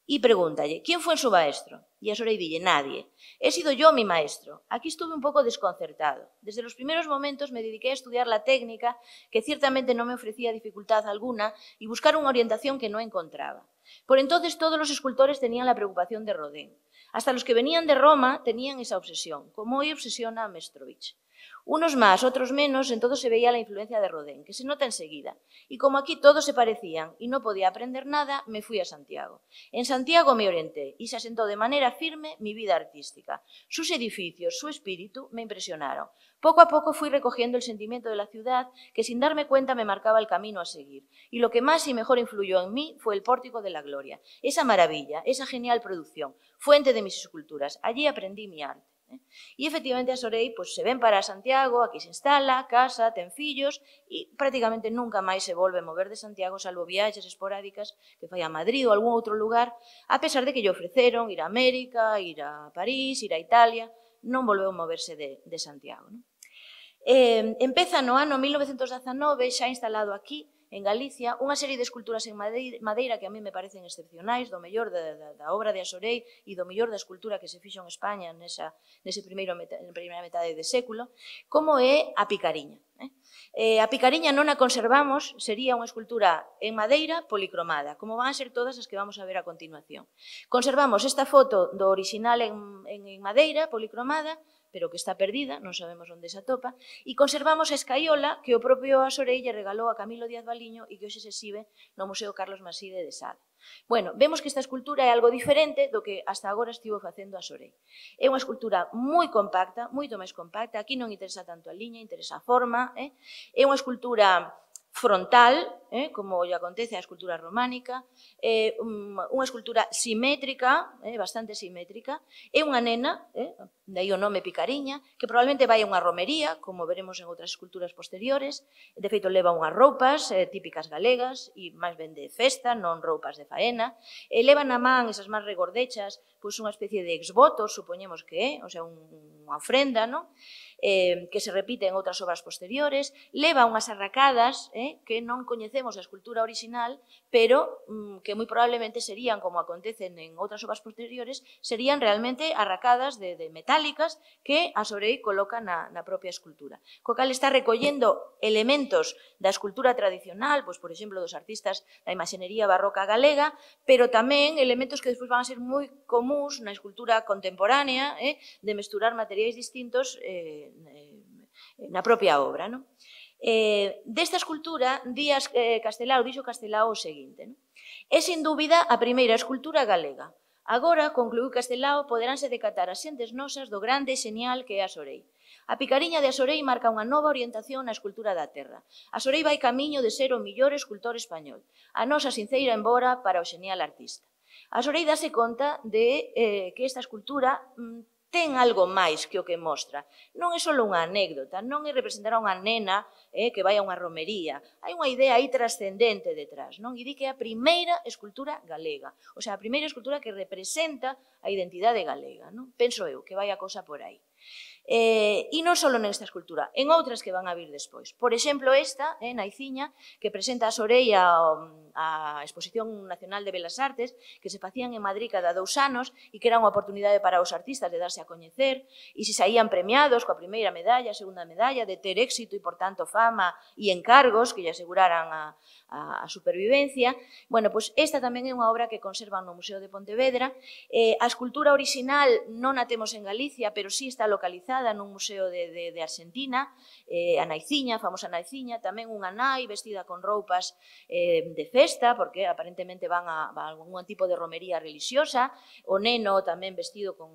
B: e pregúntalle, ¿quién fue su maestro? E a Sorei dille, nadie. He sido yo mi maestro. Aquí estuve un pouco desconcertado. Desde los primeros momentos me dediqué a estudiar la técnica, que ciertamente no me ofrecía dificultad alguna, y buscar una orientación que no encontraba. Por entonces todos los escultores tenían la preocupación de Rodin. Hasta los que venían de Roma tenían esa obsesión, como hoy obsesiona a Mestrovich. Unos más, otros menos, en todo se veía la influencia de Rodin, que se nota enseguida. Y como aquí todos se parecían y no podía aprender nada, me fui a Santiago. En Santiago me orienté y se asentó de manera firme mi vida artística. Sus edificios, su espíritu me impresionaron. Poco a poco fui recogiendo el sentimiento de la ciudad que sin darme cuenta me marcaba el camino a seguir. Y lo que más y mejor influyó en mí fue el Pórtico de la Gloria. Esa maravilla, esa genial producción, fuente de mis esculturas. Allí aprendí mi arte. E efectivamente a Sorei se ven para Santiago, aquí se instala, casa, ten fillos e prácticamente nunca máis se volve a mover de Santiago, salvo viaxes esporádicas que fai a Madrid ou a algún outro lugar, a pesar de que lle ofreceron ir a América, ir a París, ir a Italia, non volveu a moverse de Santiago. Empeza no ano 1919, xa instalado aquí, en Galicia, unha serie de esculturas en madeira que a mí me parecen excepcionais, do mellor da obra de a Sorei e do mellor da escultura que se fixo en España nesa primeira metade de século, como é a Picariña. A Picariña non a conservamos, sería unha escultura en madeira policromada, como van a ser todas as que vamos a ver a continuación. Conservamos esta foto do orixinal en madeira policromada, pero que está perdida, non sabemos onde se atopa, e conservamos a escaiola que o propio a Sorei lle regalou a Camilo Díaz Valiño e que hoxe se exhibe no Museo Carlos Maside de Sada. Bueno, vemos que esta escultura é algo diferente do que hasta agora estivo facendo a Sorei. É unha escultura moi compacta, moito máis compacta, aquí non interesa tanto a liña, interesa a forma, é unha escultura frontal, como lle acontece a escultura románica, unha escultura simétrica, bastante simétrica, é unha nena, dai o nome Picariña, que probablemente vai a unha romería, como veremos en outras esculturas posteriores, de feito leva unhas roupas típicas galegas, e máis ben de festa, non roupas de faena, leva na man esas máis regordechas, pois unha especie de exvoto, supoñemos que é, o sea, unha ofrenda, non? Que se repite en outras obras posteriores, leva unhas arracadas que non coñecemos a escultura original, pero que moi probablemente serían, como acontecen en outras obras posteriores, serían realmente arracadas de metálicas que a Sorei coloca na propia escultura. Co cal está recollendo elementos da escultura tradicional, pois, por exemplo, dos artistas da imaxenería barroca galega, pero tamén elementos que despois van a ser moi comuns na escultura contemporánea, de mesturar materiais distintos na propia obra. Desta escultura, Díaz Castelao dixo Castelao o seguinte: é sin dúbida a primeira escultura galega. Agora, concluiu Castelao, poderánse decatar as xentes nosas do grande e xenial que é a Sorei. A Picariña de a Sorei marca unha nova orientación na escultura da terra. A Sorei vai camiño de ser o millor escultor español. A nosa sinceira embora para o xenial artista. A Sorei dase conta de que esta escultura ten algo máis que o que mostra. Non é só unha anécdota, non é representar a unha nena que vai a unha romería. Hai unha idea aí trascendente detrás, non? E di que é a primeira escultura galega, o sea, a primeira escultura que representa a identidade galega, non? Penso eu que vai a cousa por aí. E non só nesta escultura, en outras que van a vir despois. Por exemplo, esta, Naiciña, que presenta a Sorei a Exposición Nacional de Belas Artes, que se facían en Madrid cada 2 anos e que era unha oportunidade para os artistas de darse a coñecer, e se saían premiados coa primeira medalla, a segunda medalla, de ter éxito e, por tanto, fama e encargos que lle aseguraran a supervivencia. Bueno, pois esta tamén é unha obra que conservan no Museo de Pontevedra. A escultura original non a temos en Galicia, pero sí está localizada nun museo de Argentina, a Naiciña, a famosa Naiciña, tamén unha nai vestida con roupas de festa, porque aparentemente van a algún tipo de romería religiosa, o neno tamén vestido con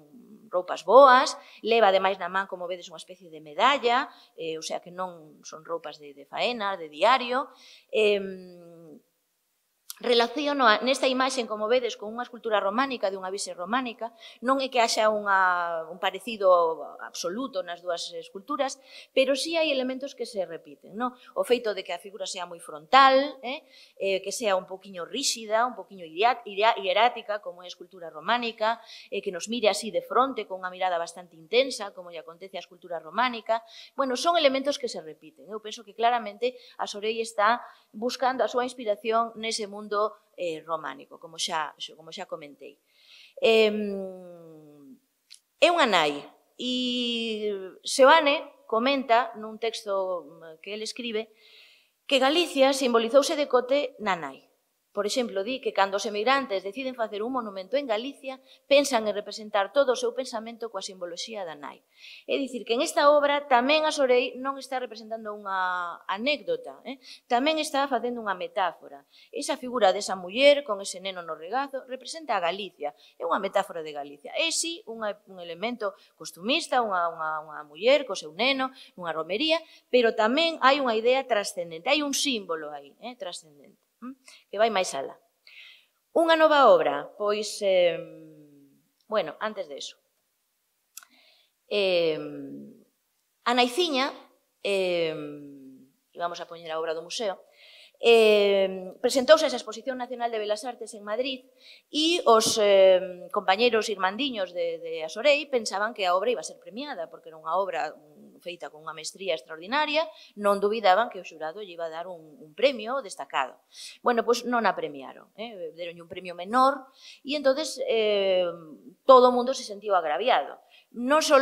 B: roupas boas, leva ademais na man, como vedes, unha especie de medalla, o sea que non son roupas de faena, de diario. Relaciono nesta imaxe, como vedes, con unha escultura románica, dunha vise románica, non é que haxa un parecido absoluto nas dúas esculturas, pero sí hai elementos que se repiten, non? O feito de que a figura sea moi frontal, que sea un poquinho ríxida, un poquinho hierática, como é a escultura románica, que nos mire así de fronte, con unha mirada bastante intensa, como lle acontece a escultura románica. Bueno, son elementos que se repiten. Eu penso que claramente a Sorei está buscando a súa inspiración nese mundo románico, como xa comentei. É unha nai, e Seoane comenta nun texto que ele escribe que Galicia simbolizouse decote na nai. Por exemplo, di que cando os emigrantes deciden facer un monumento en Galicia, pensan en representar todo o seu pensamento coa simboloxía da nai. É dicir, que en esta obra tamén a Sorei non está representando unha anécdota, tamén está facendo unha metáfora. Esa figura desa muller con ese neno no regazo representa a Galicia, é unha metáfora de Galicia. É, sí, un elemento costumista, unha muller co seu neno, nunha romería, pero tamén hai unha idea trascendente, hai un símbolo aí, trascendente, que vai máis alá. Unha nova obra, pois, bueno, antes de eso. A Naiciña, e vamos a poñer a obra do museo, presentouse esa Exposición Nacional de Belas Artes en Madrid e os compañeros irmandiños de Asorei pensaban que a obra iba a ser premiada, porque era unha obra feita con unha mestría extraordinaria, non dubidaban que o xurado lle iba a dar un premio destacado. Bueno, pois non a premiaron, deronlle un premio menor, e entonces todo o mundo se sentiu agraviado. Non só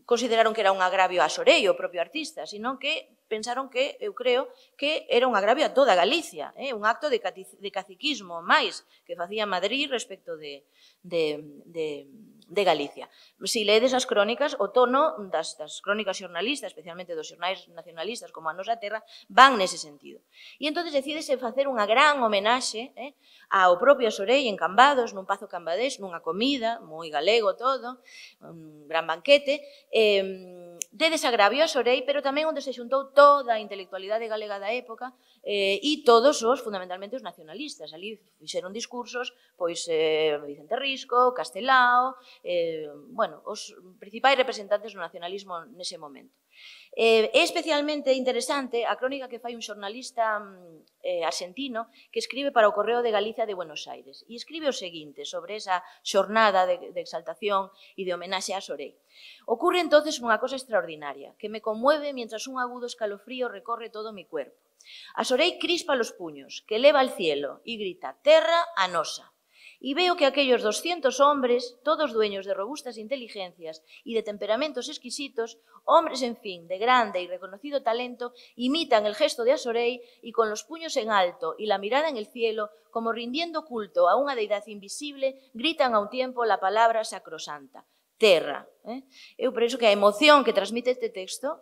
B: consideraron que era un agravio a Sorei, o propio artista, sino que pensaron que, eu creo, que era un agravio a toda Galicia, un acto de caciquismo máis que facía Madrid respecto de Galicia. Se ledes as crónicas, o tono das crónicas xornalistas, especialmente dos xornais nacionalistas como a Nosa Terra, van nese sentido. E entón decídese facer unha gran homenaxe ao propio Sorei en Cambados, nun pazo cambadés, nunha comida, moi galego todo, un gran banquete, de desagravio a Sorei, pero tamén onde se xuntou toda a intelectualidade galega da época e todos os, fundamentalmente, os nacionalistas. Ali fixeron discursos, pois, Vicente Risco, Castelao, bueno, os principais representantes do nacionalismo nese momento. É especialmente interesante a crónica que fai un xornalista argentino que escribe para o Correo de Galicia de Buenos Aires e escribe o seguinte sobre esa xornada de exaltación e de homenaxe a Sorei. Ocurre entonces unha cosa extraordinaria que me conmueve mientras un agudo escalofrío recorre todo mi cuerpo. A Sorei crispa los puños, que eleva al cielo y grita: «Terra a nosa». Y veo que aquellos 200 hombres, todos dueños de robustas inteligencias y de temperamentos exquisitos, hombres, en fin, de grande y reconocido talento, imitan el gesto de Asorei y con los puños en alto y la mirada en el cielo, como rindiendo culto a unha deidad invisible, gritan a un tiempo la palabra sacrosanta: terra. Eu penso que a emoción que transmite este texto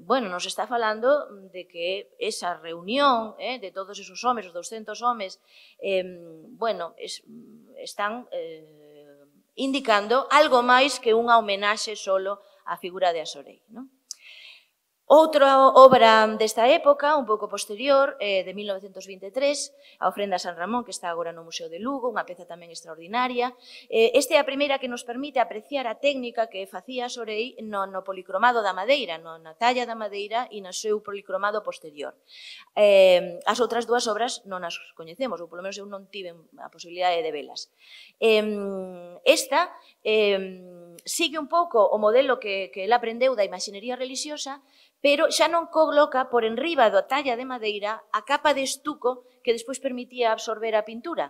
B: bueno, nos está falando de que esa reunión de todos esos homes, os 200 homes, bueno, están indicando algo máis que unha homenaxe solo á figura de Asorei, non? Outra obra desta época, un pouco posterior, de 1923, a ofrenda a San Ramón, que está agora no Museo de Lugo, unha peza tamén extraordinaria. Esta é a primeira que nos permite apreciar a técnica que facía Sorei no policromado da madeira, na talla da madeira e no seu policromado posterior. As outras dúas obras non as coñecemos, ou polo menos eu non tive a posibilidade de velas. Esta sigue un pouco o modelo que ela aprendeu da imaxinería religiosa, pero xa non coloca por enriba da talla de madeira a capa de estuco que despois permitía absorber a pintura.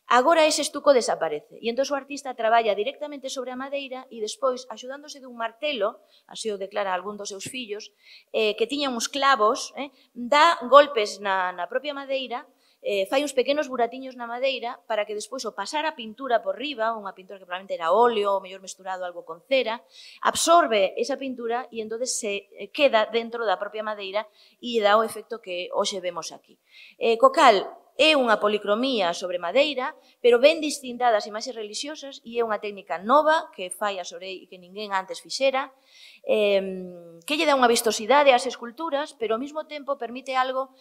B: Agora ese estuco desaparece e entón o artista traballa directamente sobre a madeira e despois, axudándose dun martelo, así o declara algún dos seus fillos, que tiña uns clavos, dá golpes na propia madeira, fai uns pequenos buratiños na madeira para que despois o pasar a pintura por riba, unha pintura que probablemente era óleo ou mellor mesturado algo con cera, absorbe esa pintura e entón se queda dentro da propia madeira e dá o efecto que hoxe vemos aquí. Co cal, é unha policromía sobre madeira, pero ben distinta das imaxes religiosas e é unha técnica nova que fai a Sorei e que ninguén antes fixera, que lle dá unha vistosidade ás esculturas, pero ao mesmo tempo permite algo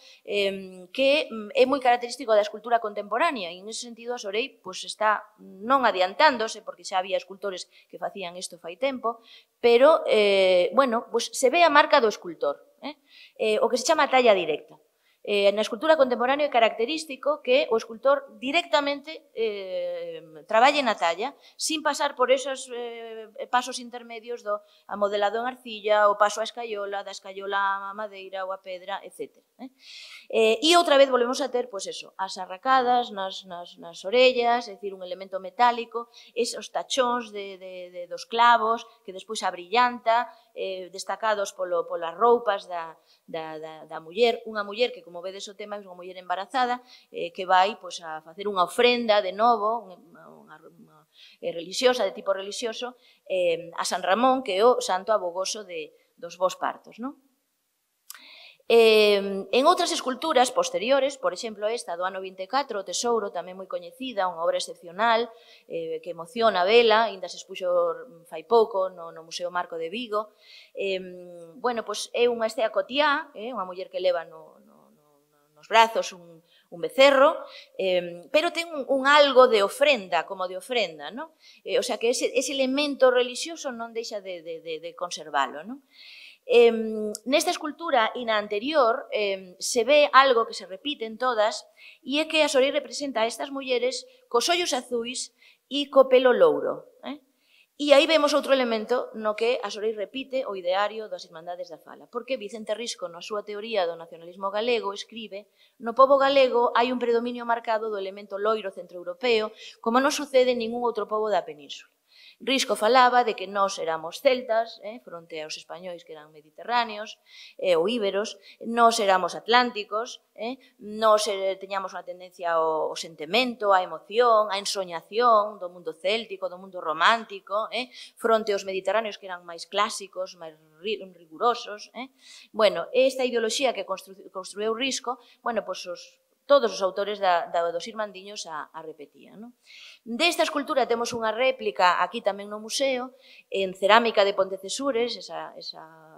B: que é moi característico da escultura contemporánea e en ese sentido a Sorei está non adiantándose, porque xa había escultores que facían isto fai tempo, pero se ve a marca do escultor, o que se chama talla directa. Na escultura contemporánea é característico que o escultor directamente traballe na talla sin pasar por esos pasos intermedios do amodelado en arcilla, o paso á escaiola, da escaiola á madeira ou á pedra, etc. E outra vez volvemos a ter as arracadas nas orellas, é dicir, un elemento metálico, esos tachóns dos clavos que despois abrillanta, destacados polas roupas da muller, unha muller que, como vedes o tema, é unha muller embarazada que vai a facer unha ofrenda de novo, unha religiosa, de tipo religioso, a San Ramón, que é o santo abogoso dos bons partos, non? En outras esculturas posteriores, por exemplo esta do ano 24, o Tesouro, tamén moi coñecida, unha obra excepcional que emociona a vela, ainda se expuxo fai pouco no Museo Marco de Vigo. É unha Estea Cotiá, unha muller que leva nos brazos un becerro, pero ten un algo de ofrenda, como de ofrenda, non? O sea que ese elemento religioso non deixa de conservalo, non? Nesta escultura e na anterior se ve algo que se repite en todas e é que a Sorei representa a estas mulleres cos ollos azuis e co pelo louro. E aí vemos outro elemento no que a Sorei repite o ideario das Irmandades da Fala, porque Vicente Risco, na súa teoría do nacionalismo galego, escribe: no pobo galego hai un predominio marcado do elemento loiro centroeuropeo, como non sucede en ningún outro pobo da península. Risco falaba de que nós éramos celtas, fronte aos españois que eran mediterráneos ou íberos, nós éramos atlánticos, nós teñamos unha tendencia ao sentimento, á emoción, á ensoñación do mundo céltico, do mundo romántico, fronte aos mediterráneos que eran máis clásicos, máis rigurosos. Esta ideoloxía que construiu Risco, todos os autores dos Irmandiños a repetían. Desta escultura temos unha réplica aquí tamén no museo, en cerámica de Pontecesures, esa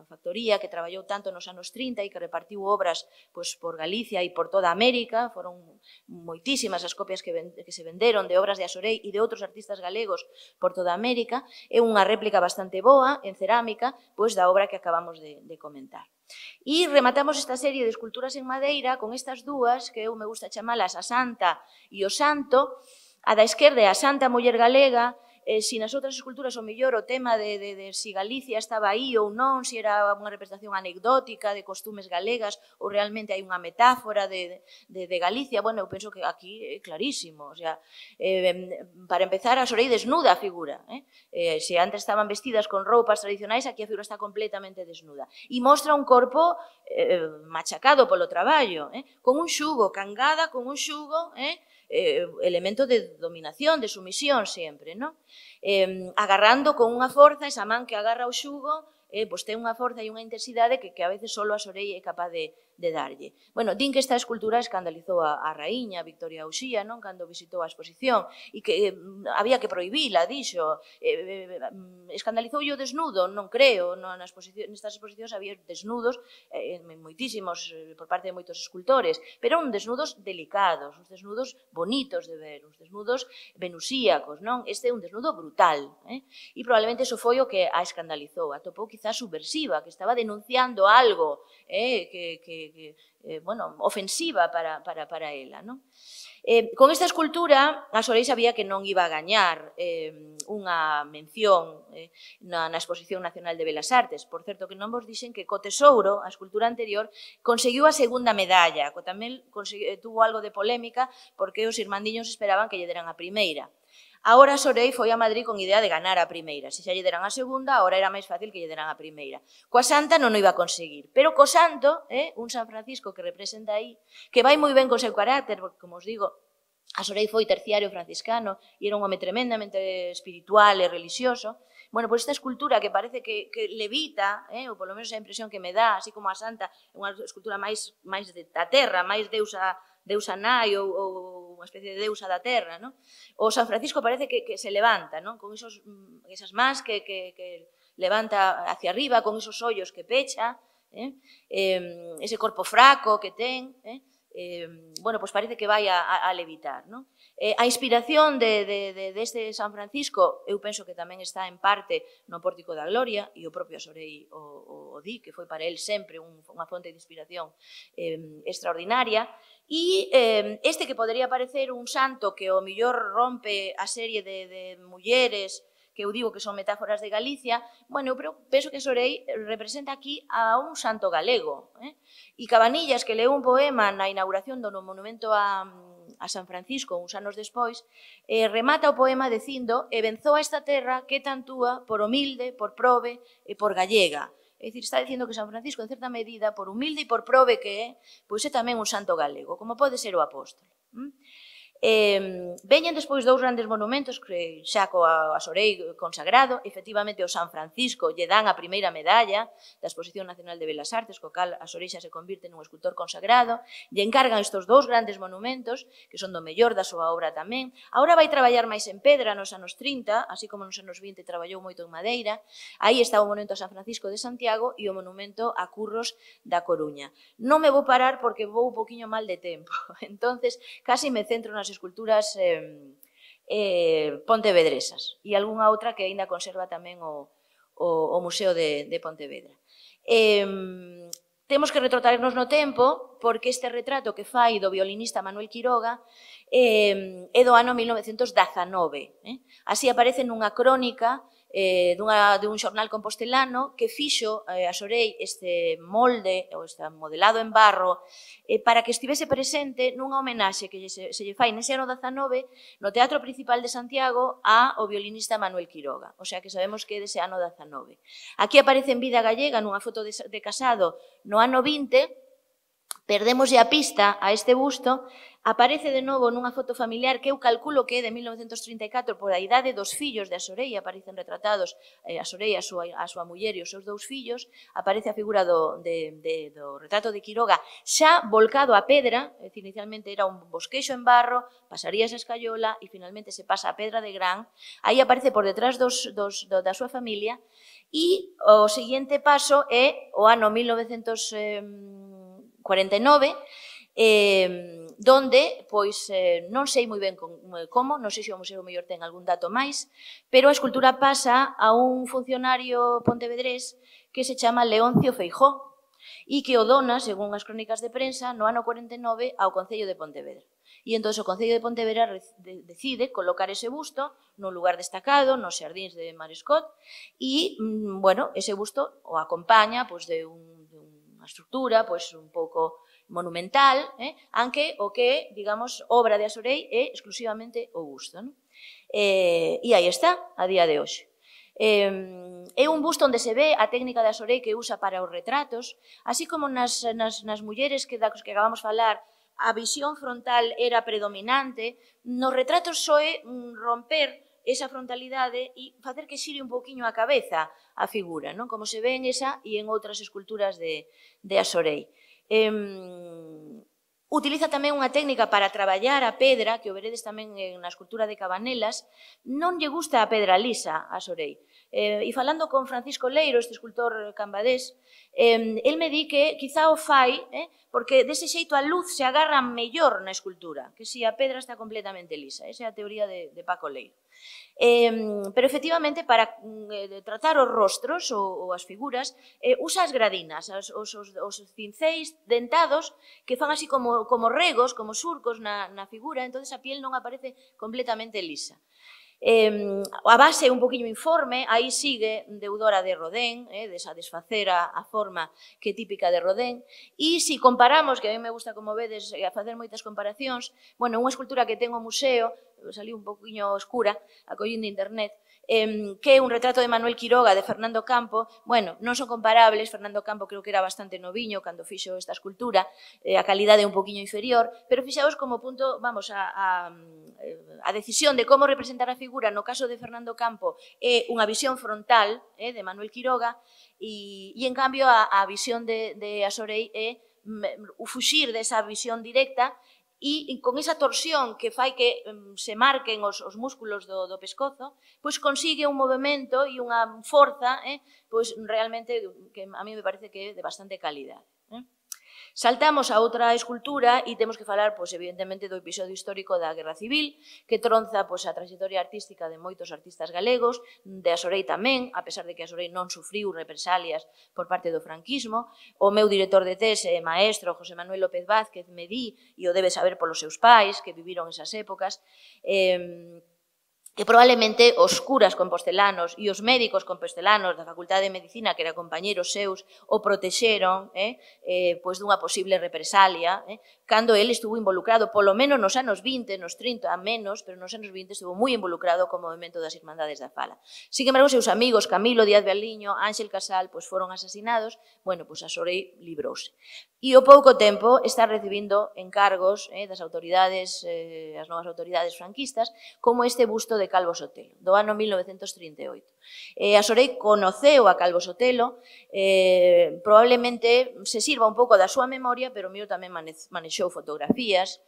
B: factoría que traballou tanto nos anos 30 e que repartiu obras por Galicia e por toda América. Foron moitísimas as copias que se venderon de obras de Sorei e de outros artistas galegos por toda América. É unha réplica bastante boa en cerámica da obra que acabamos de comentar. E rematamos esta serie de esculturas en madeira con estas dúas, que eu me gusta chamalas a Santa e o Santo. A da esquerda é a Santa Muller Galega, se nas outras esculturas o mellor o tema de si Galicia estaba aí ou non, se era unha representación anecdótica de costumes galegas ou realmente hai unha metáfora de Galicia. Eu penso que aquí é clarísimo. Para empezar, a Sorei desnuda a figura. Se antes estaban vestidas con roupas tradicionais, aquí a figura está completamente desnuda. E mostra un corpo machacado polo traballo, con un xugo, cangada con un xugo, elemento de dominación, de sumisión sempre, non? Agarrando con unha forza, esa man que agarra o xugo, ten unha forza e unha intensidade que a veces só a Sorei é capaz de darlle. Bueno, din que esta escultura escandalizou a raíña Victoria Uxía, non, cando visitou a exposición, e que había que prohibila, dixo. Escandalizoulle o desnudo? Non creo. Nestas exposicións había desnudos, moitísimos, por parte de moitos escultores, pero uns desnudos delicados, uns desnudos bonitos de ver, uns desnudos venusíacos, non? Este é un desnudo brutal, e probablemente iso foi o que a escandalizou, atopou quizás subversiva, que estaba denunciando algo ofensiva para ela, non? Con esta escultura, a Sorei sabía que non iba a gañar unha mención na Exposición Nacional de Belas Artes. Por certo, que non vos dixen que co Tesouro, a escultura anterior, conseguiu a segunda medalla, que tamén tuvo algo de polémica, porque os irmandiños esperaban que lle deran a primeira. Agora a Sorei foi a Madrid con idea de ganar a primeira. Se xa lle deran a segunda, agora era máis fácil que lle deran a primeira. Coa Santa non o iba a conseguir. Pero co Santo, un San Francisco que representa aí, que vai moi ben co seu carácter, porque, como os digo, a Sorei foi terciario franciscano e era un home tremendamente espiritual e religioso. Bueno, pois esta escultura que parece que levita, ou polo menos a impresión que me dá, así como a Santa, é unha escultura máis da terra, máis deusa nai ou unha especie de deusa da terra, non? O San Francisco parece que se levanta, non? Con esas mans que levanta hacia arriba, con esos ollos que pecha, ese corpo fraco que ten, bueno, pois parece que vai a levitar, non? A inspiración deste San Francisco, eu penso que tamén está en parte no Pórtico da Gloria, e o propio Sorei o di, que foi para el sempre unha fonte de inspiración extraordinaria, e este que podería parecer un santo que o mellor rompe a serie de mulleres que eu digo que son metáforas de Galicia, bueno, eu penso que Sorei representa aquí a un santo galego. E Cabanillas, que leu un poema na inauguración do monumento a San Francisco uns anos despois, remata o poema dicindo: "E venzou a esta terra que tan túa por humilde, por probe e por gallega". É dicir, está dicindo que San Francisco, en certa medida, por humilde e por probe que é, pois é tamén un santo galego, como pode ser o apóstolo. Veñen despois dous grandes monumentos que xa coa Sorei consagrado, efectivamente o San Francisco lle dan a primeira medalla da Exposición Nacional de Belas Artes, co cal a Sorei xa se convirte nun escultor consagrado, lle encargan estes dous grandes monumentos, que son do mellor da súa obra tamén. Agora vai traballar máis en pedra nos anos 30, así como nos anos 20 traballou moito en madeira. Aí está o monumento a San Francisco de Santiago e o monumento a Curros da Coruña. Non me vou parar porque vou un poquinho mal de tempo, entonces casi me centro nas esculturas pontevedresas e algunha outra que aínda conserva tamén o Museo de Pontevedra. Temos que retrotraernos no tempo porque este retrato que fai do violinista Manuel Quiroga é do ano 1919. Así aparece nunha crónica dun xornal compostelano que fixo a Sorei este molde, ou este modelado en barro, para que estivese presente nunha homenaxe que se lle fai nese ano 19 no Teatro Principal de Santiago ao violinista Manuel Quiroga. O sea que sabemos que é dese ano 19. Aquí aparece en vida gallega nunha foto de casado no ano 20, perdémoslle a pista a este busto, aparece de novo nunha foto familiar que eu calculo que é de 1934 por a idade dos fillos de a Sorei, aparecen retratados a Sorei, a súa muller e os seus dous fillos, aparece a figura do retrato de Quiroga xa volcado a pedra, é dicir, inicialmente era un bosquexo en barro, pasaríase a escayola e finalmente se pasa a pedra de gran, aí aparece por detrás da súa familia e o seguinte paso é o ano 1949, donde, pois, non sei moi ben como, non sei se o museo mellor ten algún dato máis, pero a escultura pasa a un funcionario pontevedrés que se chama Leoncio Feijó e que o dona, según as crónicas de prensa, no ano 49 ao Concello de Pontevedra. E entón o Concello de Pontevedra decide colocar ese busto nun lugar destacado, nos xardíns de Marescot, e, bueno, ese busto o acompaña de unha estructura un pouco monumental, aunque o que, digamos, obra de a Sorei é exclusivamente o busto. E aí está, a día de hoxe. É un busto onde se ve a técnica de a Sorei que usa para os retratos, así como nas mulleres que acabamos de falar, a visión frontal era predominante, nos retratos só é romper esa frontalidade e facer que xire un poquinho a cabeza a figura, como se ve en esa e en outras esculturas de a Sorei. Utiliza tamén unha técnica para traballar a pedra, que o veredes tamén na escultura de Cabanelas. Non lle gusta a pedra lisa a Sorei. E falando con Francisco Leiro, este escultor cambadés, el me di que quizá o fai porque dese xeito a luz se agarra mellor na escultura, que si a pedra está completamente lisa. Esa é a teoría de Paco Leiro. Pero efectivamente para tratar os rostros ou as figuras usa as gradinas, os cinceis dentados que fan así como regos, como surcos na figura, entonces a piel non aparece completamente lisa. A base é un poquinho informe, aí sigue Deudora de Rodén, desa desfacer a forma que é típica de Rodén, e se comparamos, que a mí me gusta, como vedes, a facer moitas comparacións, bueno, unha escultura que ten o museo, saliu un poquinho oscura, a collín de internet, que é un retrato de Manuel Quiroga, de Fernando Campo. Bueno, non son comparables, Fernando Campo creo que era bastante noviño cando fixo esta escultura, a calidade é un poquinho inferior, pero fixaos como punto, vamos, a decisión de como representar a figura no caso de Fernando Campo é unha visión frontal de Manuel Quiroga e en cambio a visión de Asorei é fuxir desa visión directa e con esa torsión que fai que se marquen os músculos do pescozo, pois consigue un movimento e unha forza pois realmente que a mí me parece que é de bastante calidade. Saltamos a outra escultura e temos que falar, pois, evidentemente, do episodio histórico da Guerra Civil, que tronza pois, a trayectoria artística de moitos artistas galegos, de Asorei tamén, a pesar de que Asorei non sufriu represalias por parte do franquismo. O meu director de tese e maestro, José Manuel López Vázquez, me di, e o debe saber polos seus pais, que viviron esas épocas, que probablemente os curas compostelanos e os médicos compostelanos da Facultade de Medicina, que eran compañeros seus, o protexeron pois dunha posible represalia, cando ele estuvo involucrado, polo menos nos anos 20, nos 30 a menos, pero nos anos 20 estuvo moi involucrado co movimento das Irmandades da Fala. Sin embargo, seus amigos Camilo Díaz Baliño, Ángel Casal, pois foron asasinados, bueno, pois Asorei librouse. E ao pouco tempo está recibindo encargos das autoridades, as novas autoridades franquistas, como este busto de Calvo Sotelo, do ano 1938. Asorei conoceu a Calvo Sotelo, probablemente se sirva un pouco da súa memoria, pero o mío tamén manexou fotografías.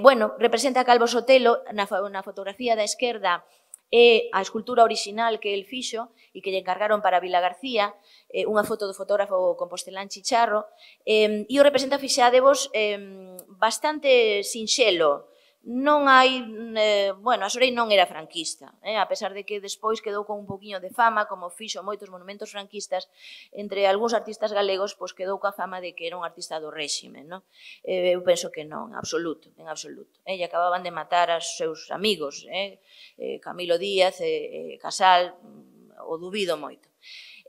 B: Bueno, representa a Calvo Sotelo na fotografía da esquerda, é a escultura original que el fixo e que lle encargaron para Vila García, unha foto do fotógrafo compostelán Chicharro, e o representa, fixadevos, bastante sinxelo. Non hai, bueno, Asorei non era franquista, a pesar de que despois quedou con un poquinho de fama, como fixo moitos monumentos franquistas, entre algúns artistas galegos, pois quedou coa fama de que era un artista do réxime, non? Eu penso que non, en absoluto, en absoluto. E acababan de matar aos seus amigos, Camilo Díaz e Casal, o dubido moito.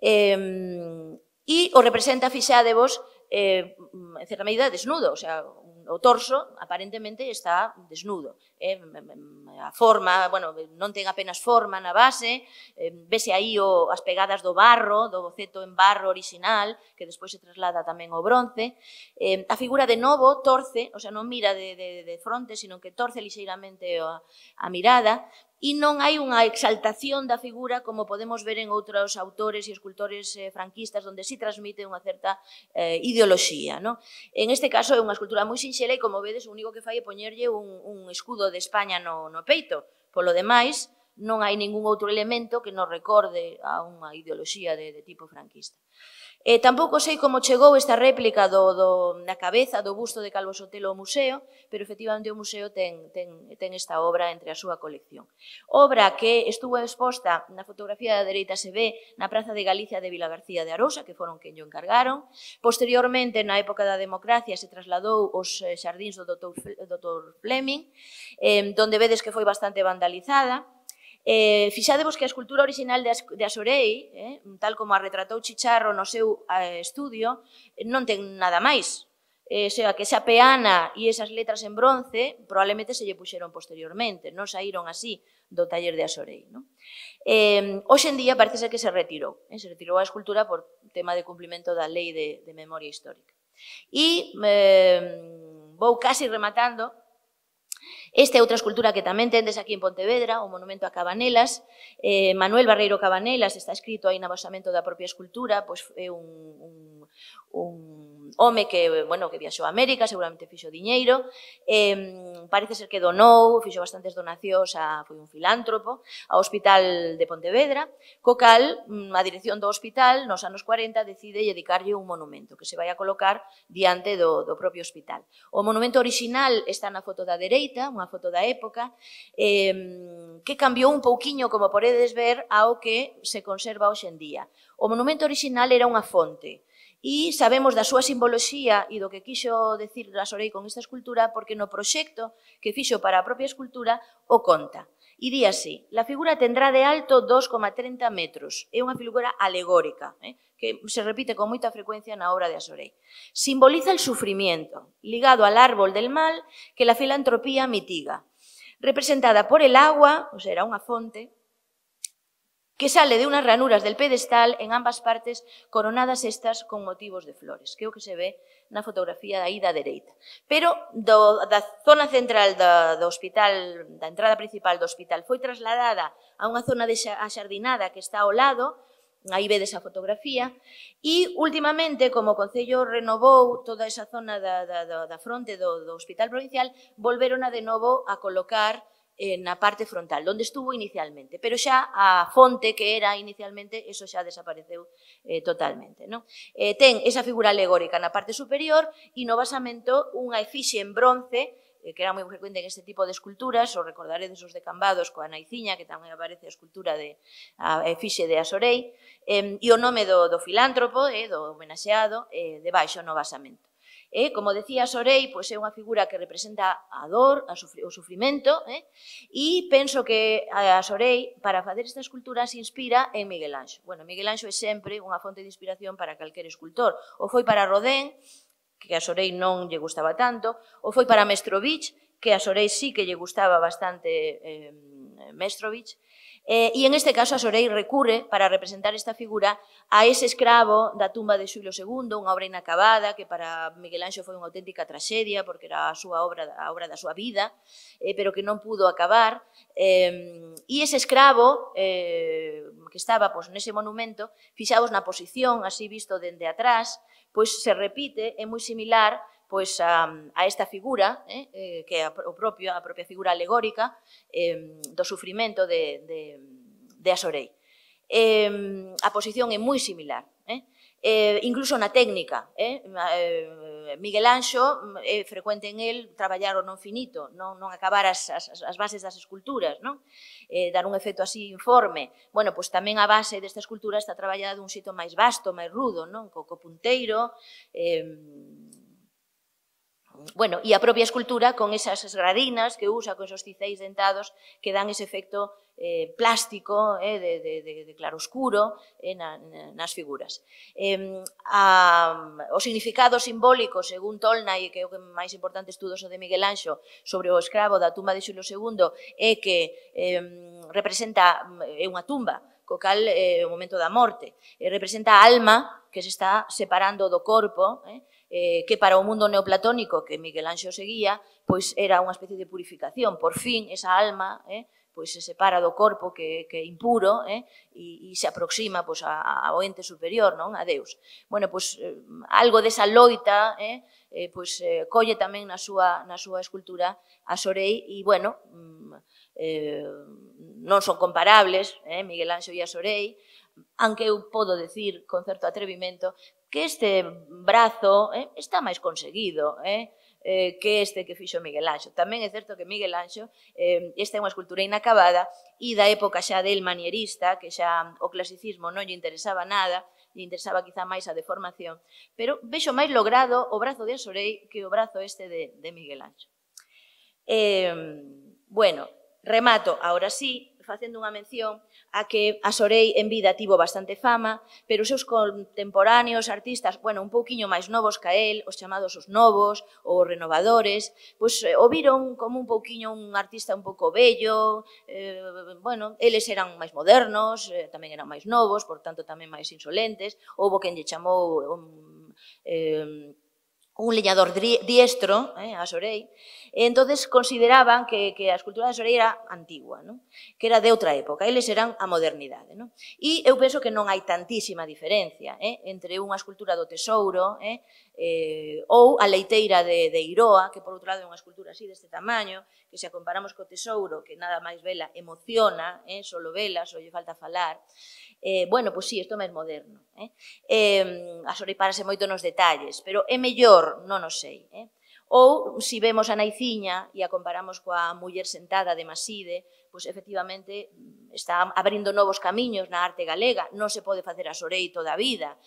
B: E o representa, fixadevos, en certa medida desnudo, o sea, o torso aparentemente está desnudo. A forma, bueno, non ten apenas forma na base, vese aí as pegadas do barro, do boceto en barro original, que despois se traslada tamén ao bronce. A figura de novo torce, o sea, non mira de fronte, sino que torce lixeiramente a mirada, e non hai unha exaltación da figura como podemos ver en outros autores e escultores franquistas, onde si transmite unha certa ideoloxía. En este caso é unha escultura moi sinxela e, como vedes, o único que fai é poñerlle un escudo de España no peito. Polo demais, non hai ningún outro elemento que nos recorde a unha ideoloxía de tipo franquista. Tampouco sei como chegou esta réplica na cabeza do busto de Calvo Sotelo ao museo, pero efectivamente o museo ten esta obra entre a súa colección. Obra que estuvo exposta na fotografía da dereita, se ve na Praza de Galicia de Vila García de Arosa, que foron quen lle encargaron. Posteriormente, na época da democracia, se trasladou aos xardíns do Dr. Fleming, donde vedes que foi bastante vandalizada. Fixadevos que a escultura original de Asorei, tal como a retratou Chicharro no seu estudio, non ten nada máis. O sea, que esa peana e esas letras en bronce probablemente se lle puxeron posteriormente, non saíron así do taller de Asorei. Hoxe en día parece ser que se retirou a escultura por tema de cumplimento da lei de memoria histórica. E vou casi rematando. Esta é outra escultura que tamén tendes aquí en Pontevedra, o monumento a Cabanelas. Manuel Barreiro Cabanelas, está escrito aí no basamento da propia escultura, pois é un home que, bueno, que viaxou a América, seguramente fixo diñeiro, parece ser que donou, fixo bastantes donacións, foi un filántropo, ao Hospital de Pontevedra, co cal a dirección do hospital nos anos 40 decide dedicarlle un monumento que se vai a colocar diante do propio hospital. O monumento orixinal está na foto da dereita, unha foto da época, que cambiou un pouquiño, como podedes ver, ao que se conserva hoxe en día. O monumento orixinal era unha fonte, e sabemos da súa simboloxía e do que quixo decir Rasorei con esta escultura porque no proxecto que fixo para a propia escultura o conta. E di así: la figura tendrá de alto 2,30 metros. É unha figura alegórica, que se repite con moita frecuencia na obra de Asorei. Simboliza el sufrimiento, ligado al árbol del mal que la filantropía mitiga. Representada por el agua, o sea, era unha fonte, que sale de unas ranuras del pedestal en ambas partes, coronadas estas con motivos de flores, que é o que se ve na fotografía aí da dereita. Pero da zona central do hospital, da entrada principal do hospital, foi trasladada a unha zona axardinada que está ao lado, aí vedes a fotografía, e últimamente, como o Concello renovou toda esa zona da fronte do Hospital Provincial, volveron de novo a colocar na parte frontal, onde estuvo inicialmente, pero xa a fonte que era inicialmente, eso xa desapareceu totalmente. Ten esa figura alegórica na parte superior e no basamento unha efixe en bronce, que era moi frecuente en este tipo de esculturas, o recordaredes os de Cambados coa Naiciña, que tamén aparece a escultura a efixe de Asorei, e o nome do filántropo, do homenaxeado, debaixo no basamento. Como decía Asorei, é unha figura que representa a dor, o sufrimento, e penso que Asorei, para facer esta escultura, se inspira en Miguel Anxo. Bueno, Miguel Anxo é sempre unha fonte de inspiración para calquer escultor. O foi para Rodin, que a Asorei non lle gustaba tanto, o foi para Mestrovich, que a Asorei sí que lle gustaba bastante Mestrovich, e en este caso Asorei recurre para representar esta figura a ese escravo da tumba de Xulo II, unha obra inacabada que para Miguel Anxo foi unha auténtica traxedia porque era a obra da súa vida, pero que non pudo acabar, e ese escravo que estaba nese monumento, fixaos na posición, así visto dende atrás, pois se repite, é moi similar a esta figura, que é a propia figura alegórica do sufrimento de Asorei. A posición é moi similar, incluso na técnica. Miguel Anxo é frecuente en el traballar o non finito, non acabar as bases das esculturas, dar un efecto así informe. Bueno, pois tamén a base desta escultura está traballada dun xeito máis vasto, máis rudo, co punteiro, bueno, e a propia escultura con esas esgradinas que usa, con esos ciceis dentados que dan ese efecto plástico de claroscuro nas figuras. O significado simbólico, según Tolnai, que é o que máis importante estudos o de Miguel Anxo sobre o escravo da tumba de Xulo II, é que representa unha tumba, co cal é o momento da morte, representa a alma que se está separando do corpo, que para o mundo neoplatónico que Miguel Anxo seguía, pois era unha especie de purificación. Por fin, esa alma pois se separa do corpo que é impuro e se aproxima ao ente superior, a Deus. Bueno, pois algo desa loita pois colle tamén na súa escultura Asorei e, bueno, non son comparables, Miguel Anxo e Asorei, aunque eu podo decir con certo atrevimento que este brazo está máis conseguido que este que fixo Miguel Anxo. Tamén é certo que Miguel Anxo, esta é unha escultura inacabada e da época xa del manierista, que xa o clasicismo non lle interesaba nada, lle interesaba quizá máis a deformación, pero vexo máis logrado o brazo de Asorei que o brazo este de Miguel Anxo. Bueno, remato, ahora sí, facendo unha mención a que Asorei en vida tivo bastante fama, pero os seus contemporáneos artistas, bueno, un pouquiño máis novos que el, os chamados os novos, ou os renovadores, pois o viron como un pouquiño un artista un pouco bello, bueno, eles eran máis modernos, tamén eran máis novos, por tanto tamén máis insolentes, houbo quen lle chamou un leñador diestro, a Sorei, e entonces consideraban que a escultura de Sorei era antigua, non? Que era de outra época, eles eran a modernidade. Non? E eu penso que non hai tantísima diferencia entre unha escultura do Tesouro ou a leiteira de Iroa, que por outro lado é unha escultura así deste tamaño, que se a comparamos co Tesouro, que nada máis vela emociona, solo vela, só lle falta falar. Bueno, pois sí, isto é máis moderno. A Sorei parase moito nos detalles, pero é mellor, non o sei. Ou, se vemos a Naiciña e a comparamos coa muller sentada de Maside, pois efectivamente está abrindo novos camiños na arte galega, non se pode facer a Sorei toda a vida,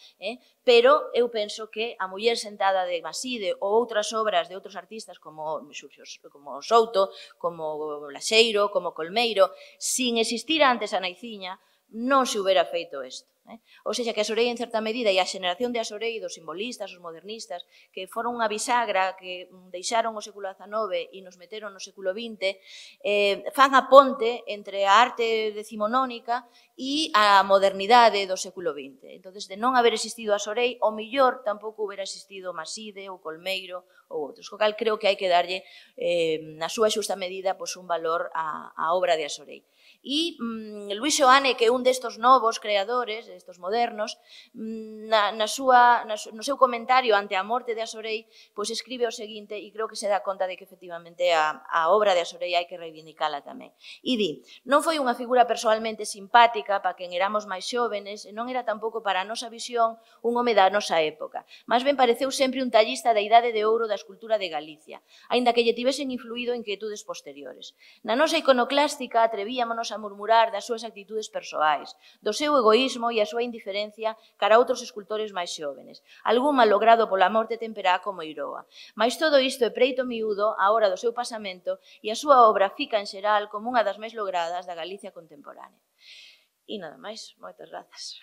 B: pero eu penso que a muller sentada de Maside ou outras obras de outros artistas como Souto, como Laxeiro, como Colmeiro, sin existir antes a Naiciña, non se houbera feito isto. Ou seja, que a Sorei, en certa medida, e a xeneración de a Sorei, dos simbolistas, os modernistas, que foron unha bisagra que deixaron o século XIX e nos meteron no século XX, fan a ponte entre a arte decimonónica e a modernidade do século XX. Entón, de non haber existido a Sorei, o millor tampouco houbera existido Maside ou Colmeiro ou outros. Co cal, creo que hai que darlle, na súa xusta medida, un valor á obra de a Sorei. E Luis Xoane, que é un destos novos creadores, destos modernos, no seu comentario ante a morte de a Sorei, pois escribe o seguinte, e creo que se dá conta de que efectivamente a obra de a Sorei hai que reivindicala tamén. E di, non foi unha figura persoalmente simpática para quen éramos máis xóvenes, e non era tampouco para a nosa visión un home da nosa época. Mas ben pareceu sempre un tallista da idade de ouro da escultura de Galicia, aínda que lle tivesen influído inquietudes posteriores. Na nosa iconoclástica atrevíamonos a murmurar das súas actitudes persoais, do seu egoísmo e a súa indiferencia cara a outros escultores máis xóvenes, algún malogrado pola morte temperá como Iroa. Mais todo isto é preito miúdo á hora do seu pasamento e a súa obra fica en xeral como unha das máis logradas da Galicia contemporánea. E nada máis, moitas grazas.